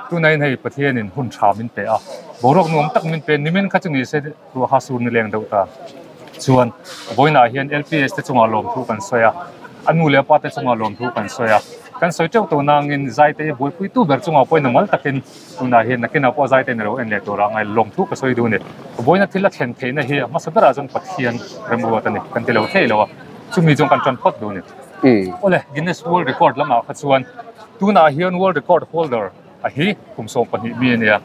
Tunah in hei Pathianin hun tha min pe a, boruak nuam tak min pe, nimin kha chu ni se ruah kha sur ni leng deuh ta. Chuan vawiinah hian LPS te chungah lawmthu kan sawi a, a nu leh a pa te chungah lawmthu kan sawi a. Kan sawi teuh tawh nangin Zaite hi buaipuitu ber chungah pawhin a mal takin tunah hian nakinah pawh Zaite in a lo en leh tur a ngai lawmthu ka sawi duh a ni. Vawiina thil a thlen theihna hi a hmasa berah chuan Pathian remruat a ni kan ti lo thei lo a, chumi chuan kan tan phawt duh a ni. Awle, Guinness World Record lamah kha chuan tunah hian World Record holder a hi kum 12 mi a nia.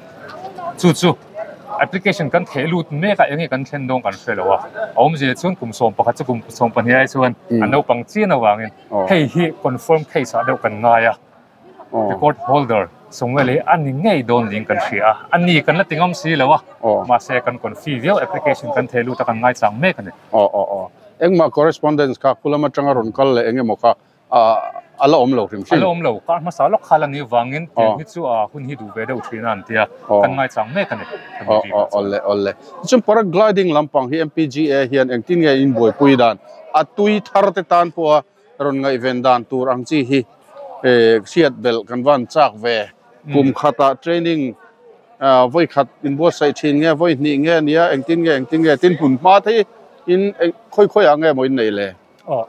Chu chu application kan theh lut mek a, enge kan thlen dawn kan hre lo a. A awmzia chuan kum 11 chu kum 12 ai chuan a naupang chian avangin hei hi confirm case ah deuh kan ngai a. Record holder Samuel hi a ni ngei dawn niin kan hria a, a ni kan la ti ngam si lo a, mahse kan confi viau application kan theh lut a kan ngai chang mek a ni. Engmah correspondence kha khulam atanga rawn kal leh engemaw kha. A la awm lo hrim hrim. A la awm lo. Kar hmasa lawk kha la ni vangin tiang hi chu a hun hi duh ve deuh thin a an tia. Kan ngaichang mek a ni. Aw aw awle awle. Tichuan paragliding lampang hi MPGA hian engtin nge in buaipui dan a tui thar te tan pawha rawn ngaihven dan tur ang chi hi hriat belh kan van chak ve. Kum khatah training vawi khat inbuatsaih thin nge vawi hnih nge nia engtin nge engtin nge tin hmun hma te hi in khawi khawi ah nge maw in neih le? Aw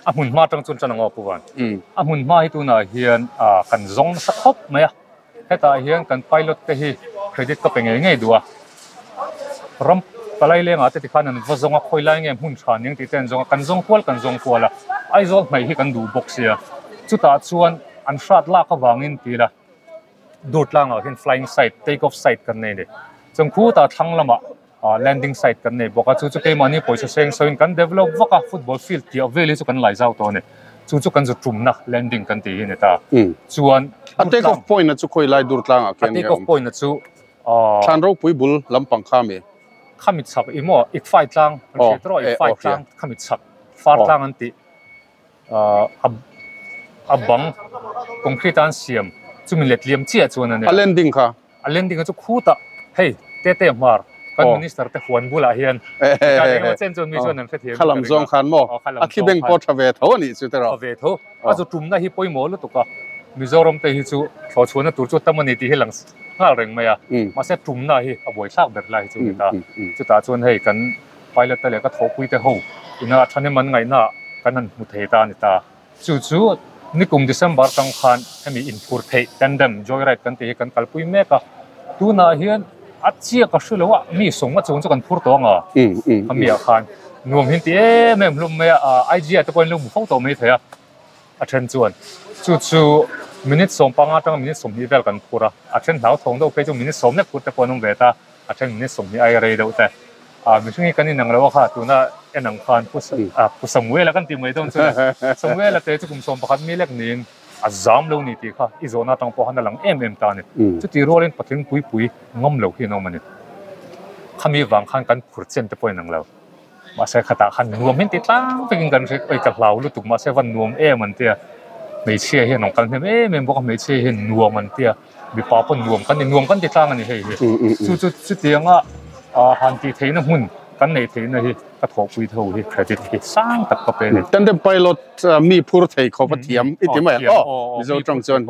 a hmun hma atang chuan tan ang aw Pu Van. A hmun hma hi tunah hian kan zawng nasa khawp mai a, hetah hian kan pilot te hi credit ka pe ngei ngei duh a, ram palai lengah te tikhan an va zawng a, khawi lai nge hmun tha ning tih te an zawng a, kan zawng kual kan zawng kual a, Aizawl hmei hi kan duh bawk sia, chutah chuan an hrat lak avangin ti ila dur tlangah hian flying site, take off site kan nei a ni. Chuan khutah thlang lamah landing site kan nei bawk a, chu chu keimahni pawisa seng sawiin kan develop vak a, football field tih vel hi chu kan lai zau tawh a ni. Chu chu kan zu tumna landing kan tih hi a ni ta. Chuan A take off point a chu khawi lai dur tlangah khian A take off point a chu Thlan ropui bul lampang kha mi. Khami chhak i maw Ikfai tlang an hriat erawh Ikfai tlang khami chhak far tlang an tih. A bang concrete a an siam chumi let liam chiah chuan a nia. A landing kha? A landing a chu khutah hei tete hmar kan minister te huan bulah hian chutah eng emaw chen chuan mi chuan an hrethiam Kha lam zawng khan maw? A thi beng pawh tha ve tho a nih chu tiraw? Tha ve tho. A zu tumna hi pawimawh lutuk a, Mizoram te hi chu thlawhchhuahna tur chu tam a ni tih hi lang nghal reng mai a, mahse tumna hi a buaithlak ber lai hi chu a ni ta. Chutah chuan hei kan Pilot te leh ka thawhpui te ho ina thahnem an ngaihna kan han hmu thei ta a ni ta. Chu chu nikum December tang khan hemi inphur theih tandem joyride kan tih hi kan kalpui mek a. Tunah hian a chiak a hre lo a, mi sawng a chung chu kan phur tawh ang a. Khami ah khan nuam hin ti em em hlawm mai a, IG ah te pawh in lo hmu fo tawh mai thei a. A then chuan chu chu minute 15 atanga minute 20 vel kan phur a, a then hlauthawng deuh phei chu minute 10 lek phur te pawh an awm ve ta. A then minute 20 aia rei deuh te. Mihring hi kan inang lo a kha tuna en ang khan Pu Samuela kan tih mai dawn chuan Samuela te chu kum 11 mi lek niin a zam lo ni tih kha i zawhna atang pawh khan a lang em em ta a ni. Chutih rualin patling pui pui ngam lo hi an awm a ni. Khami vang khan kan phur chen te pawh inang lo. Mahse khatah khan nuam hin ti tlang vekin kan hre oi ka hlau lutuk mahse van nuam em an tia. Hmeichhia hian an kal hnem em em bawk a hmeichhia hian nuam an tia mipa pawh nuam kan ni nuam kan ti tlang a ni hei hi. Chu chu chutianga han tih theihna hmun kan neih theihna hi ka thawhpui tho hi credit hi sang tak ka pe a ni. Tandem pilot mi phur thei khawp a thiam i ti mai ang aw Mizo tawng chuan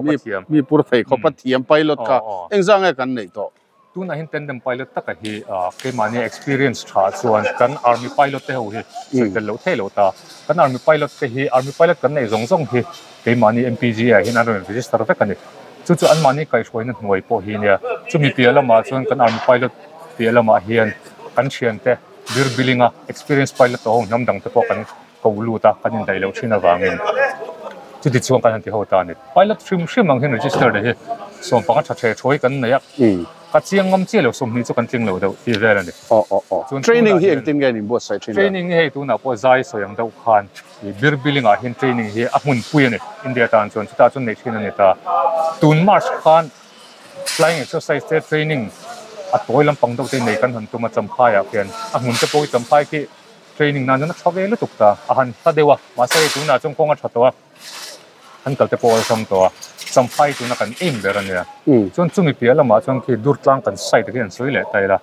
mi phur thei khawp a thiam pilot kha engzah nge kan neih tawh. Tunah hian tandem pilot taka hi keimahni experience tha chuan kan army pilot te ho hi sawi tel loh theih loh ta. Kan army pilot te hi army pilot kan neih zawng zawng hi keimahni MPG ah hian an rawn register vek a ni. Chu chu anmahni kaihhruaina hnuai pawh hi nia. Chumi piah lamah chuan kan army pilot piah lamah hian kan thiante bir billing a experience pilot ho hnam dang te pawh kan ko lut a kan indaih loh thin avangin chuti chuan kan han ti ho ta a ni. Pilot hrim hrim ang hian register te hi 15 tha the thawi kan nei a, ka chiang ngam chiah lo 20 chu kan tling lo deuh tih vel a ni. Aw aw aw. Chuan Training tunah hi hian engtin nge an inbuatsaih thin le? Training hi hei tunah pawh zai sawi ang deuh khan ih bir billing ah hian training hi a hmunpui a ni India tan chuan chutah chuan neih thin a ni ta. Tun March khan flying exercise te training a tawi lampang deuh te nei kan han tum a Champhai ah khian a hmun te pawh hi Champhai khi Training nan chuan a tha ve lutuk ta, a han hla deuh a, mahse hei tunah chuan kawng a tha tawh a, an kal te pawh a awlsam tawh a, Champhai tuna kan aim ber a nia. Chuan chumi piah lamah chuan khi Durtlang kan site hi an sawi leh ta ila,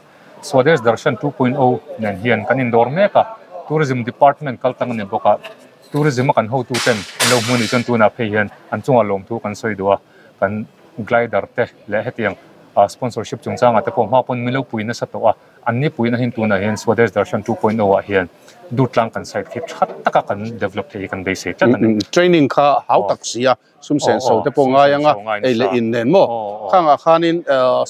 Swadesh Darshan 2.0 nen hian kan indawr mek a, Tourism Department kal tlang a ni bawk a, Tourism a kan hotu ten an lo hmu a nih chuan tunah phei hian an chungah lawmthu kan sawi duh a, kan glider te leh hetiang sponsorship chungchangah te pawh hma pawn min lo pui nasa tawh a. An ni puina hian tunah hian Swadesh Darshan 2.0 ah hian Durtlang kan site khi tha taka kan develop thei hi kan beisei tlat a ni. Training kha hau tak si a, sum sen so te pawh ngai anga ei leh in nen maw? Khangah khanin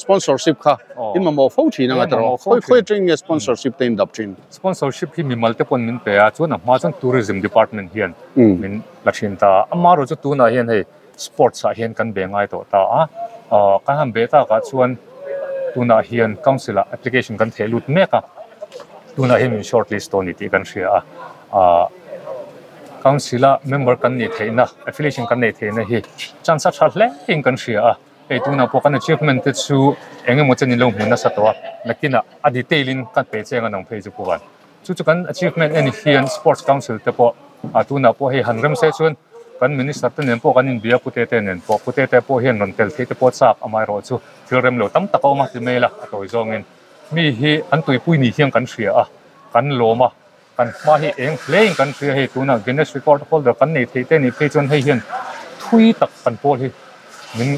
sponsorship kha in mamawh fo thin anga tiraw? Khawi khawi atangin nge sponsorship te in dap thin? Sponsorship hi mimal te pawn min pe a, chuan a hma chuan Tourism Department hian min la thin ta a. Amaherawhchu chu tunah hian hei Sports ah hian kan be ngai tawh ta a, kan han be takah chuan tunah hian council ah application kan theh lut mek a, tunah hian min short list tawh a ni tih kan hria a, council a member kan nih theihna affiliation kan neih theihna hi chance a tha hle in kan hria a, hei tunah pawh kan achievement te chu eng emaw chen in lo hmu nasa tawh a, nakinah a detail in kan pe cheng a nang phei chu pu van. Chu chu kan achievement en hian sports council te pawh tunah pawh hei han rem se chuan. Kan minister te nen pawh kan inbia pute te nen pawh pute te pawh hian rawn tel theih te pawh chak amaherawh chu thil rem lo tam tak a awm a ti mai la a tawi zawngin mi hi an tuipui ni hian kan hria a kan lawm a kan hma hi eng hle in kan hria hei tunah Guinness record holder kan nei theih te nih phei chuan hei hian thui tak kan pawl hi min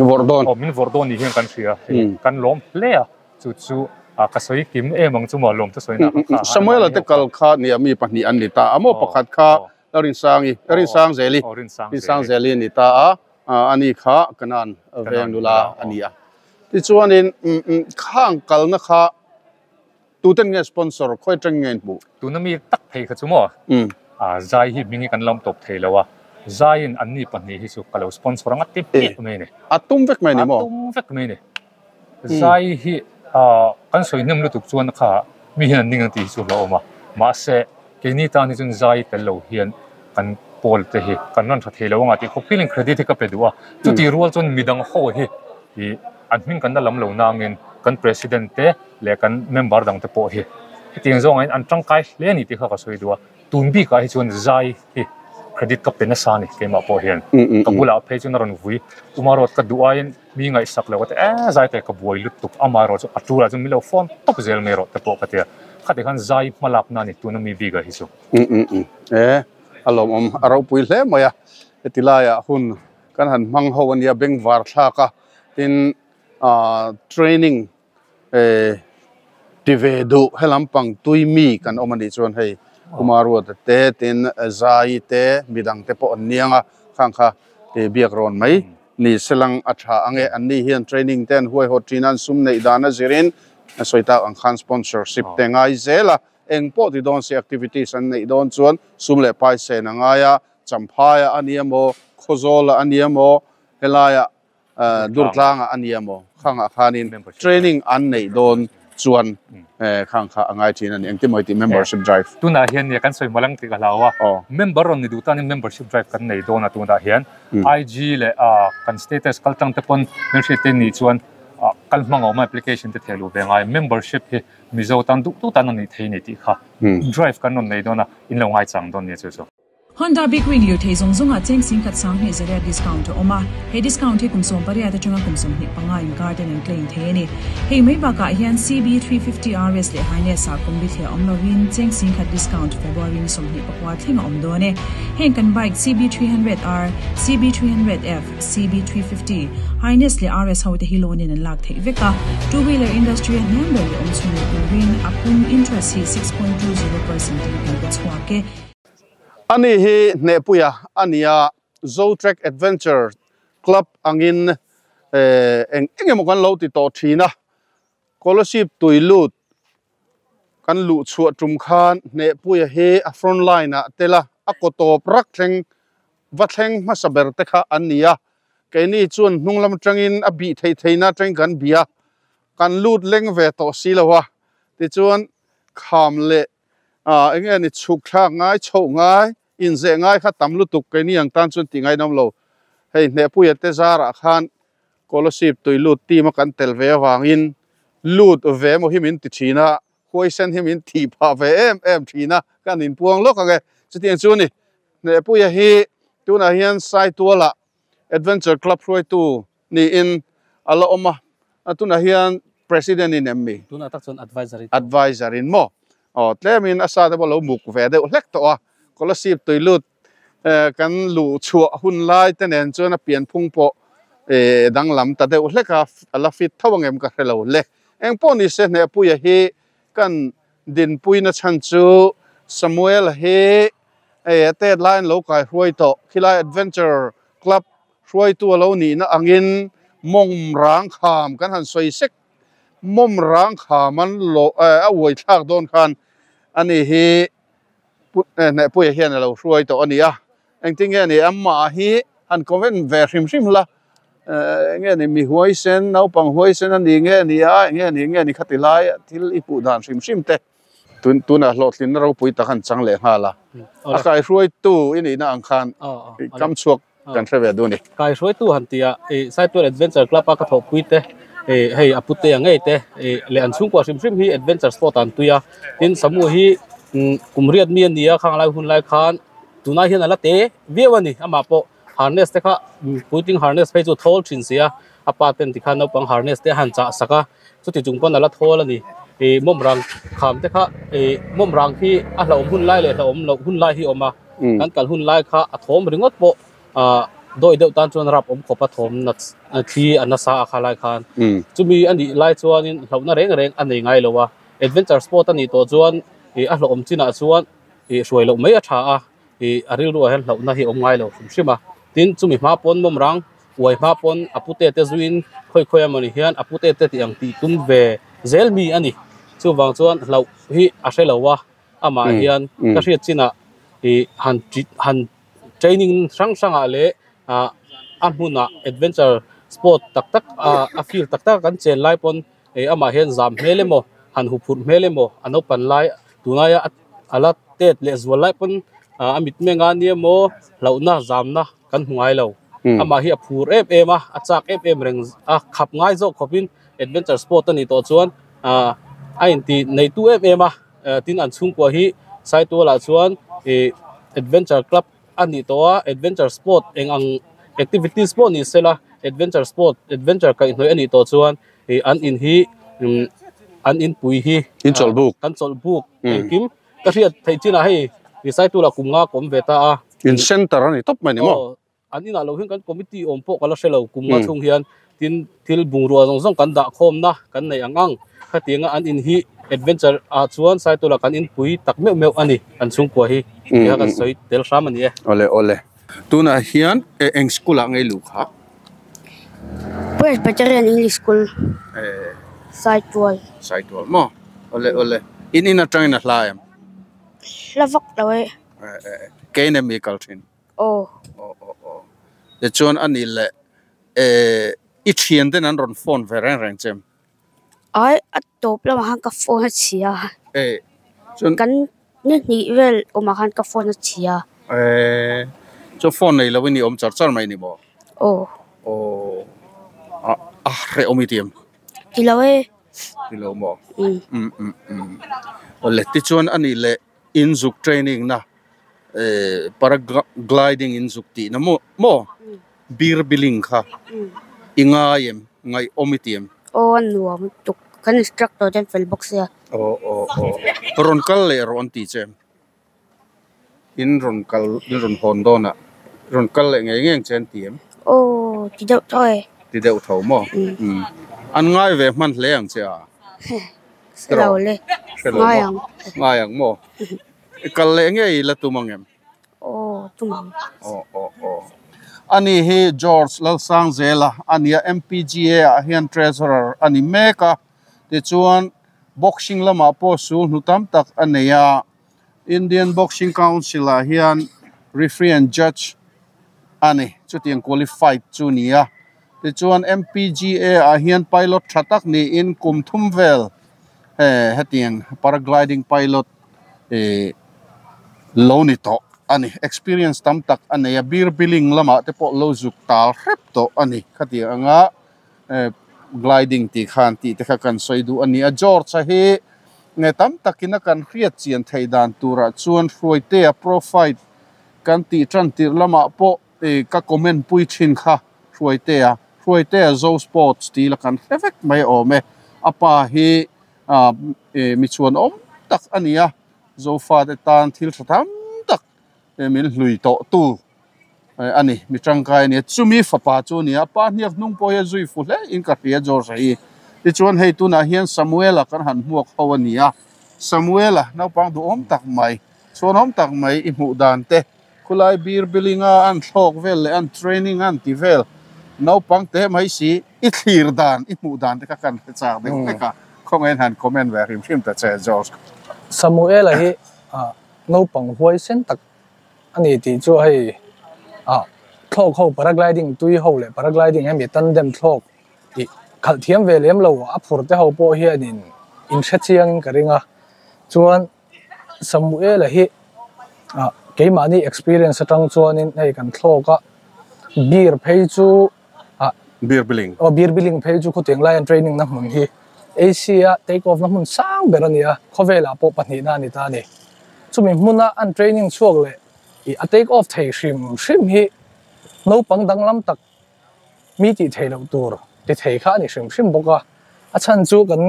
vawrh dawn aw min vawrh dawn ni hian kan hria hei kan lawm hle a chu chu a ka sawi kim em ang chu maw lawm chu sawi na kha Samuel te kal kha nia mi pahnih an ni ta a maw pakhat kha Rinsangi Rinsangzeli Rinsangzeli ni ta a ani kha kanan veng nula ani a tichuanin khang kalna kha tuten nge sponsor khoi tang nge hmu tuna mi tak thei kha chu maw a zai hi mingi kan lam top thei lo a zai in an ni pahnih hi chu ka lo sponsor anga ti pek mai ni a tum vek mai ni maw a tum vek mai ni zai hi a kan soi hnem lutuk chuan kha mi hian an ning ang tih hi chu lo awm a mahse keini tan hi chuan zai tel lo hian kan pawl te hi kan rawn tha thei lo anga tih khawp feeling credit hi ka pe duh a chuti rual chuan midang ho hi ih an hming kan la lam lo nangin kan president te leh kan member dang te pawh hi hetiang zawngah hian an tangkai hle a ni tih kha ka sawi duh a tun bikah hi chuan zai hi credit ka pe nasa a ni keimah pawh hian ka bulah phei chuan a rawn vui umarawt ka duh aiin mi ngaihsak lo ka ti e zai te ka buai lutuk amaherawh chu a tulah chuan min lo phone tawp zel mai rawh te pawh ka ti a khati khan zai hma lak na a ni tuna mi bikah hi chu. E a lawmawm a ropui hle mai a heti laiah hun kan han hmang ho ania bengvar thlak a tin training ti ve duh helampang tui mi kan awm anih chuan hei Umaruata te tin Zai te midang te pawh an niang a khang kha biak rawn mai ni selang a tha ange anni hian training te an huaihawt thin a an sum neih dan a zirin a sawi tak ang khan sponsorship te ngai zel a eng pawh ti dawn se activities an neih dawn chuan sum leh pai sen a ngai a Champhaia a ni emaw Khawzawla a ni emaw helaia Durtlanga a ni emaw khangah khanin training an neih dawn chuan khang kha a ngai thin a ni engtin maw i tih membership drive. Tunah hian nia kan sawi malang tih ka hlau a member rawn ni duh tanin membership drive kan nei dawn a tunah hian IG leh kan status kal tang te pawn hmelhriat te nih chuan kal hmang a awm a application te theh luh ve ngai membership hi Mizo tan duh duh tan a nih thei ni tih kha drive kan rawn nei dawn a in lo ngaichang dawn nia chu chu. Honda Big Wing lirthei zawng zawngah cheng singkhat sanghnih zariat discount a awm a, he discount hi kum 18 atanga kum 25 inkar ten an claim thei a ni. Hei mai bakah hian CB350 RS leh Highness ah kum bithliah awm lovin cheng singkhat discount February ni 24 thleng a awm dawn e. Heng kan bike CB300R, CB300F, CB350, Highness leh RS ho te hi loan in an lak theih vek a, two wheeler industry a hniam ber leh awm chhun leh turin a pum interest hi 6.20% in kan pe chhuak e. Ani hi Hnehpuia a ni a, Zotrek Adventure Club angin eng eng emaw kan lo ti tawh thin a, Scholarship tui lut kan luh chhuah tum khan Hnehpuia hi a front line ah tel a, a kaw tawp rak thleng va thleng hmasa ber te kha an ni a, keini chuan hnung lam atangin a bih theih theihna atangin kan bih a, kan lut leng ve tawh si lo a, tichuan kham leh ah eng nge ni chhuk thlak ngai chhoh ngai inzeh ngai kha tam lutuk keini ang tan chuan tih ngainawm lo hei Hnehpuia te zarah khan Scholarship tui lut team a kan tel ve avangin lut ve emaw hi min ti thin a huaisen hi min thih phah ve em em thin a kan inpuang lawk ang e chutiang chu ni Hnehpuia hi tunah hian Saituala Adventure Club hruaitu niin a la awm a, tunah hian President in em mi? Tunah tak chuan Advisor in. Advisor in maw? Aw, tlemin a sa te pawh lo muk ve deuh hlek tawh a, Kolasib tuilut kan luh chhuah hun lai te nen chuan a pianphung pawh danglam ta deuh hlek a, a la fit tho angem ka hre lo le. Engpawh ni se Hnehpuia hi kan dinpuina chhan chu Samuel hi a tet laiin lo kai hruai tawh, khilai Adventure Club Hruaitu a lo nihna angin mawng rang kham kan han sawi sek. Mawm rang kham an lo a uai thlak dawn khan ani hi Hnehpuia hian a lo hruai tawh a ni a. Engtin nge ni amah hi han comment ve hrim hrim la, enge ni mi huaisen, naupang huaisen a ni nge ni a, enge ni nge ni khati lai thil i hmuh dan hrim hrim te. Tunah hlawhtlinna ropui tak an chang leh nghal a, a kaihruaitu i nihna ang khan kam chhuak kan hre ve duh a ni. Kaihruaitu han tih ah Saitual Adventure Club a ka thawhpui te hei a pute ang ngei te leh an chhungkua hrim hrim hi adventure sport ah an tui a, tin Samu hi kum riat mi a ni a, khang lai hun lai khan. Tunah hian a la te viau a ni. Amah pawh harness te kha puitling harness phei chu a thawl thin si a, a pa ten tikhan naupang harness te a han chah sak a, chuti chung pawn a la thawl a ni. Ih mawmrang kham te kha ih mawmrang khi a hlauhawm hun lai leh hlauhawm loh hun lai hi a awm a, kan kal hun lai kha a thawm ringawt pawh ah dawi deuh tan chuan rap awm khawp a thawm nat thli a nasa a kha lai khan. Chumi a nih lai chuanin hlauhna reng reng a nei ngai lo a, adventure sport a nih tawh chuan ih a hlauhawm chinah chuan ih hruai loh mai a tha a, ih a rilruah hian hlauhna hi a awm ngai lo hrim hrim a. Tin, chumi hma pawn mawmrang uai hma pawn a pute te zuiin khawi khawi emawni hian a pute te tih ang tih tum ve zel mi a ni. Chuvang chuan hlauh hi a hre lo a, amah hian ka hriat chinah ih han han training hrang hrangah leh ah a hmunah adventure sport tak tak ah a field tak tak a kan chen lai pawn ih amah hian zam hmel emaw han huphurh hmel emaw a naupan lai tunaia a la tet leh zual lai pawn ah a mitmeng a nia maw hlauhna zamna kan hmu ngai lo amah hi a phur em em a a chak em em reng a khap ngai zawk khawpin adventure sport a nih tawh chuan ah a inti neitu em em a tin an chhungkua hi Saitualah chuan ih adventure club a nih tawh a adventure sport eng ang activities pawh ni sela adventure sport adventure kaihhnawih a nih tawh chuan ih an in hi umm an in pui hi in chawlh buk kan chawlh buk engkim ka hriat theih chinah hei ih Saitualah kum nga ka awm ve ta a in center a ni tawp mai ni maw. An inah lo hian kan committee awm pawh ka la hre lo kum nga chhung hian tin thil bungrua zawng zawng kan dah khawmna kan neih ang ang khatianga an in hi adventure ah chuan Saitula kan inpui tak meuh meuh a ni an chhungkua hi tia kan sawi tel hram a ni e. Awle awle tunah hian eng school ah ngei luh kha? Presbyterian English School Saitual. Saitual maw? Awle awle in in atangin a hla em? Hla vak lo e. Kei nen mi kal thin. Aw. Aw aw aw. Tichuan a nih leh eh i thian ten an rawn phone ve reng reng che em? Ai a tawp lamah khan ka phone a chhia. Eh chuan. Kan ni hnih vel awmah khan ka phone a chhia. Eh chuan phone nei lo in i awm char char mai ni maw? Aw. Aw a a hrehawm i ti em? Ti lo e. Ti lo maw? Um um um. Awle tichuan a nih leh inzuk training na paragliding in zuk tih na maw maw beer billing kha i ngai em ngaih awm i ti em? Aw a nuam tuk kan instructor te an fel bawk sia. Aw aw aw rawn kal leh rawh an ti che em? In rawn kal in rawn hawn dawn ah rawn kal leh ngei ngei ang che an ti em? Aw ti deuh tho e. Ti deuh tho maw? An ngai ve hman hle ang che a? Hre lo le. Hre lo maw? Ngai ang maw? I kal leh ngei la tum ang em? Aw, tum ang. Aw, aw, aw. Ani hi George Lalsangzela a nia, MPGA ah hian Treasurer a ni mek a, tichuan Boxing lamah pawh sul hnu tam tak a nei a, Indian Boxing Council ah hian Referee and Judge a ni, chutiang qualified chu ni a, tichuan MPGA ah hian pilot tha tak niin kum thum vel hetiang paragliding pilot ih lo ni tawh a ni experience tam tak a nei a beer billing lamah te pawh lo zuk tal hrep tawh a ni khatiang anga eh gliding tih khan tih te kha kan sawi duh a ni a George a hi nge tam takin a kan hriat chian theih dan turah chuan Hruaitea profile kan tih tan tirh lamah pawh ih ka comment pui thin kha Hruaitea Hruaitea Zo Sports tih la kan hre vek mai awm e a pa hi ah ih mi chhuan awm tak a ni a Zofate tan thil tha tham tak min hlui tawh tu a ni mi tangkai a ni a chumi fapa chu a ni a pa hniak hnung pawh hi a zui fu hle in ka hria George a hi tichuan hei tunah hian Samuela kan han hmuak ho a ni a Samuela naupang duhawm tak mai chhuanawm tak mai i hmuh dan te Khulai beer billing a an thlawk vel leh an training a an ti vel naupang te mai si i thlir dan i hmuh dan te kha kan hre chak deuh hlek a khawngaihin han comment ve hrim hrim ta che George. Samuela hi naupang huaisen tak a ni tih chu hei thlawk ho paragliding tui ho leh paragliding hemi tandem thlawk tih khalh thiam ve lem lo a phur te ho pawh hianin in hre chiangin ka ring a chuan Samuela hi ah keimahni experience atang chuanin hei kan thlawk a beer phei chu ah beer billing aw beer billing phei chu khawtiang lai an training na hmun hi Asia take off na hmun sang ber a ni a khawvelah pawh pahnihna a ni ta a ni chumi hmuna an training chhuak leh. I a take off thei hrim hrim hi naupang danglam tak mi tih theih loh tur ti thei kha a ni hrim hrim bawk a. A chhan chu kan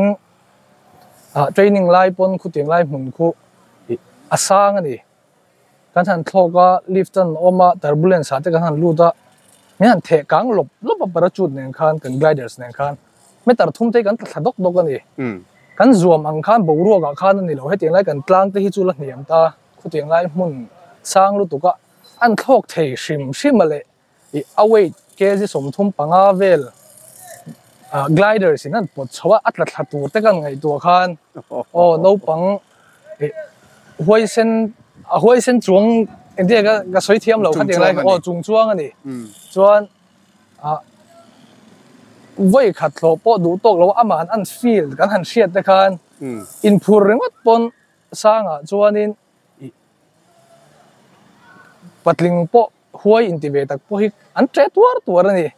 training lai pawn khutiang lai hmun khu a sang a ni. Kan han thlawk a, lift an awm a, turbulence ah te kan han lut a, min han theh kang lawp lawp a parachute nen khan kan gliders nen khan meter thum te hi kan tla thla dawk dawk a ni. Kan zuam ang khan boruak ah khan a ni lo, hetiang lai kan tlang te hi chu la hniam ta, khutiang lai hmun sang lutuk a an thlawk thei hrim hrim a leh ih a weight kg 35 vel gliders in an pawt chho a, a tla thla tur te kan ngaihtuah khan aw naupang ih huaisen a huaisen chuang engtin nge ka sawi thiam lo khatiang lai aw chung chuang a ni chuan ah vawi khat hlawh pawh duh tawk lo amah an feel kan han hriat te khan inphur ringawt pawn sangah chuanin ih patling pawh huai inti ve tak pawh hi an ṭe tuar tuar a ni.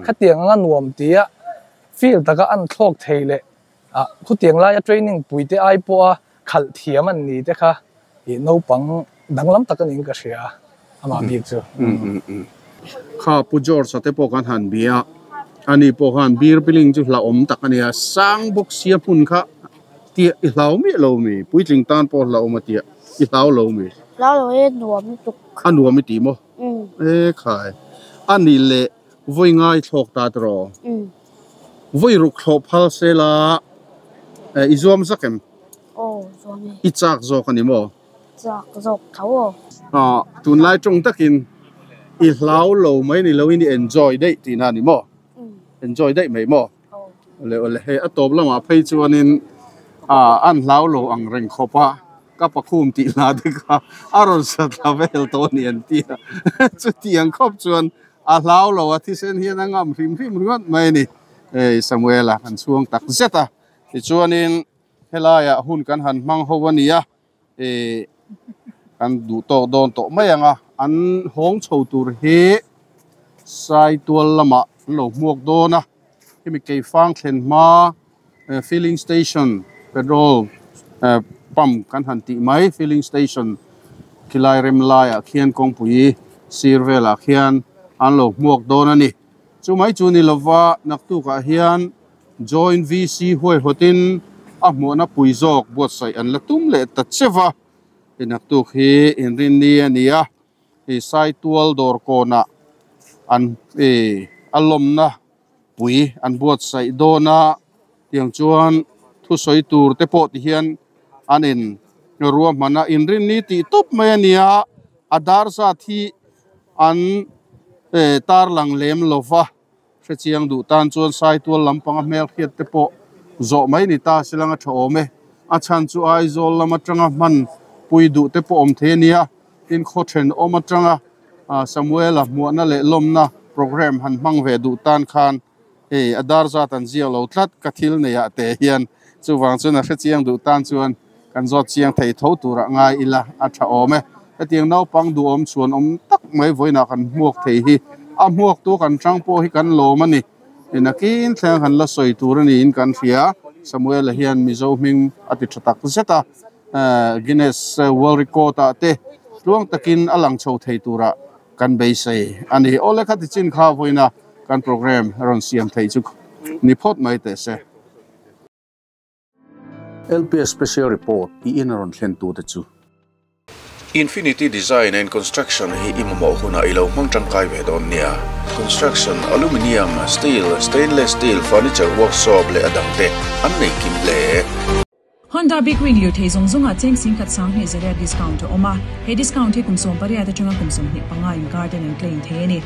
Khatiang anga nuam tia feel taka an thlawk thei leh ah khutiang laia training pui te ai pawha khalh thiam an ni te kha ih naupang danglam tak a niin ka hria amah bik chu. Kha Pu George-a te pawh kan han bia a, ani pawh khan beer piling chu hlauhawm tak a nia, sang bawk sia hmun kha tia i hlau miah lo mi? Puitling tan pawh hlauhawm a tia i hlau lo mi? Hlau lo e, nuam lutuk. A nuam i ti maw? E khai. A nih leh vawi ngai thlawk ta tiraw? Vawi ruk thlawh phal se la i zuam zak em? Aw, zuam e. I chak zawk a ni maw? Chak zawk tho aw. Aw, tunlai tawng takin i hlau lo mai ni loin i enjoy daih tihna a ni maw? Enjoy daih mai maw? Awle awle hei a tawp lamah phei chuanin ah an hlau lo ang reng khawp a ka pakhum tih hla te kha a rawn sa thla vel tawh a ni an ti a chutiang khawp chuan a hlau lo a thisen hian a ngam hrim hrim ringawt mai a ni hei Samuela kan chhuang tak zet a tichuanin helaiah hun kan han hmang ho a ni a ih kan duh tawk dawn tawh mai ang a an hawng chho tur hi Saitual lamah an lo hmuak dawn a hemi keifang thlen hma filling station petrol pump kan han tih mai filling station khilai rem laiah khian kawngpui sir velah khian an lo hmuak dawn a ni chumai chu ni lova naktukah hian. Joint VC huaihawtin a hmuhna pui zawk buatsaih an la tum leh ta che va, i naktuk hi inrinni a ni a, i Saitual dawr kawnah an i a lawmna pui an buatsaih dawn a, tiang chuan thusawi tur te pawh ti hian an in ruahman a, inrinni tih tawp mai a ni a, a dar zat hi an tarlang lem lo va. Hrechiang duh tan chuan Saitual lampanga hmelhriat te pawh zawh mai ni ta se lang a tha awm e. A chhan chu Aizawl lam atanga hman pui duh te pawh awm thei a nia. Tin, khaw thenawm atanga Samuela hmuahna leh lawmna programme han hmang ve duh tan khan hei a dar zat an ziak lo tlat ka thil neiah te hian. Chuvang chuan a hrechiang duh tan chuan kan zawt chiang thei tho turah ngai ila a tha awm e. Hetiang naupang duhawm chhuan awm tak mai vawiinah kan hmuak thei hi a hmuaktu kan tang pawh hi kan lawm a ni. Nakin thleng kan la sawi tur a niin kan hria. Samuela hian Mizo hming a ti tha tak zet a, Guinness World Record ah te tluang takin a lang chho thei turah kan beisei a ni. Awle khati chin kha vawiina kan programme rawn siam thei chu ni phawt mai teh se. LPS Special Report i in a rawn thlen tute chu. Infinity Design and Construction hi i mamawh hunah i lo hmang tangkai ve dawn nia. Construction, Aluminium, Steel, Stainless Steel, Furniture Workshop leh a dangte an nei kim hle. Honda Big Wing lirthei zawng zawngah cheng 10,200 discount a awm a, he discount hi kum 18 atanga kum 25 inkar ten an claim thei a ni.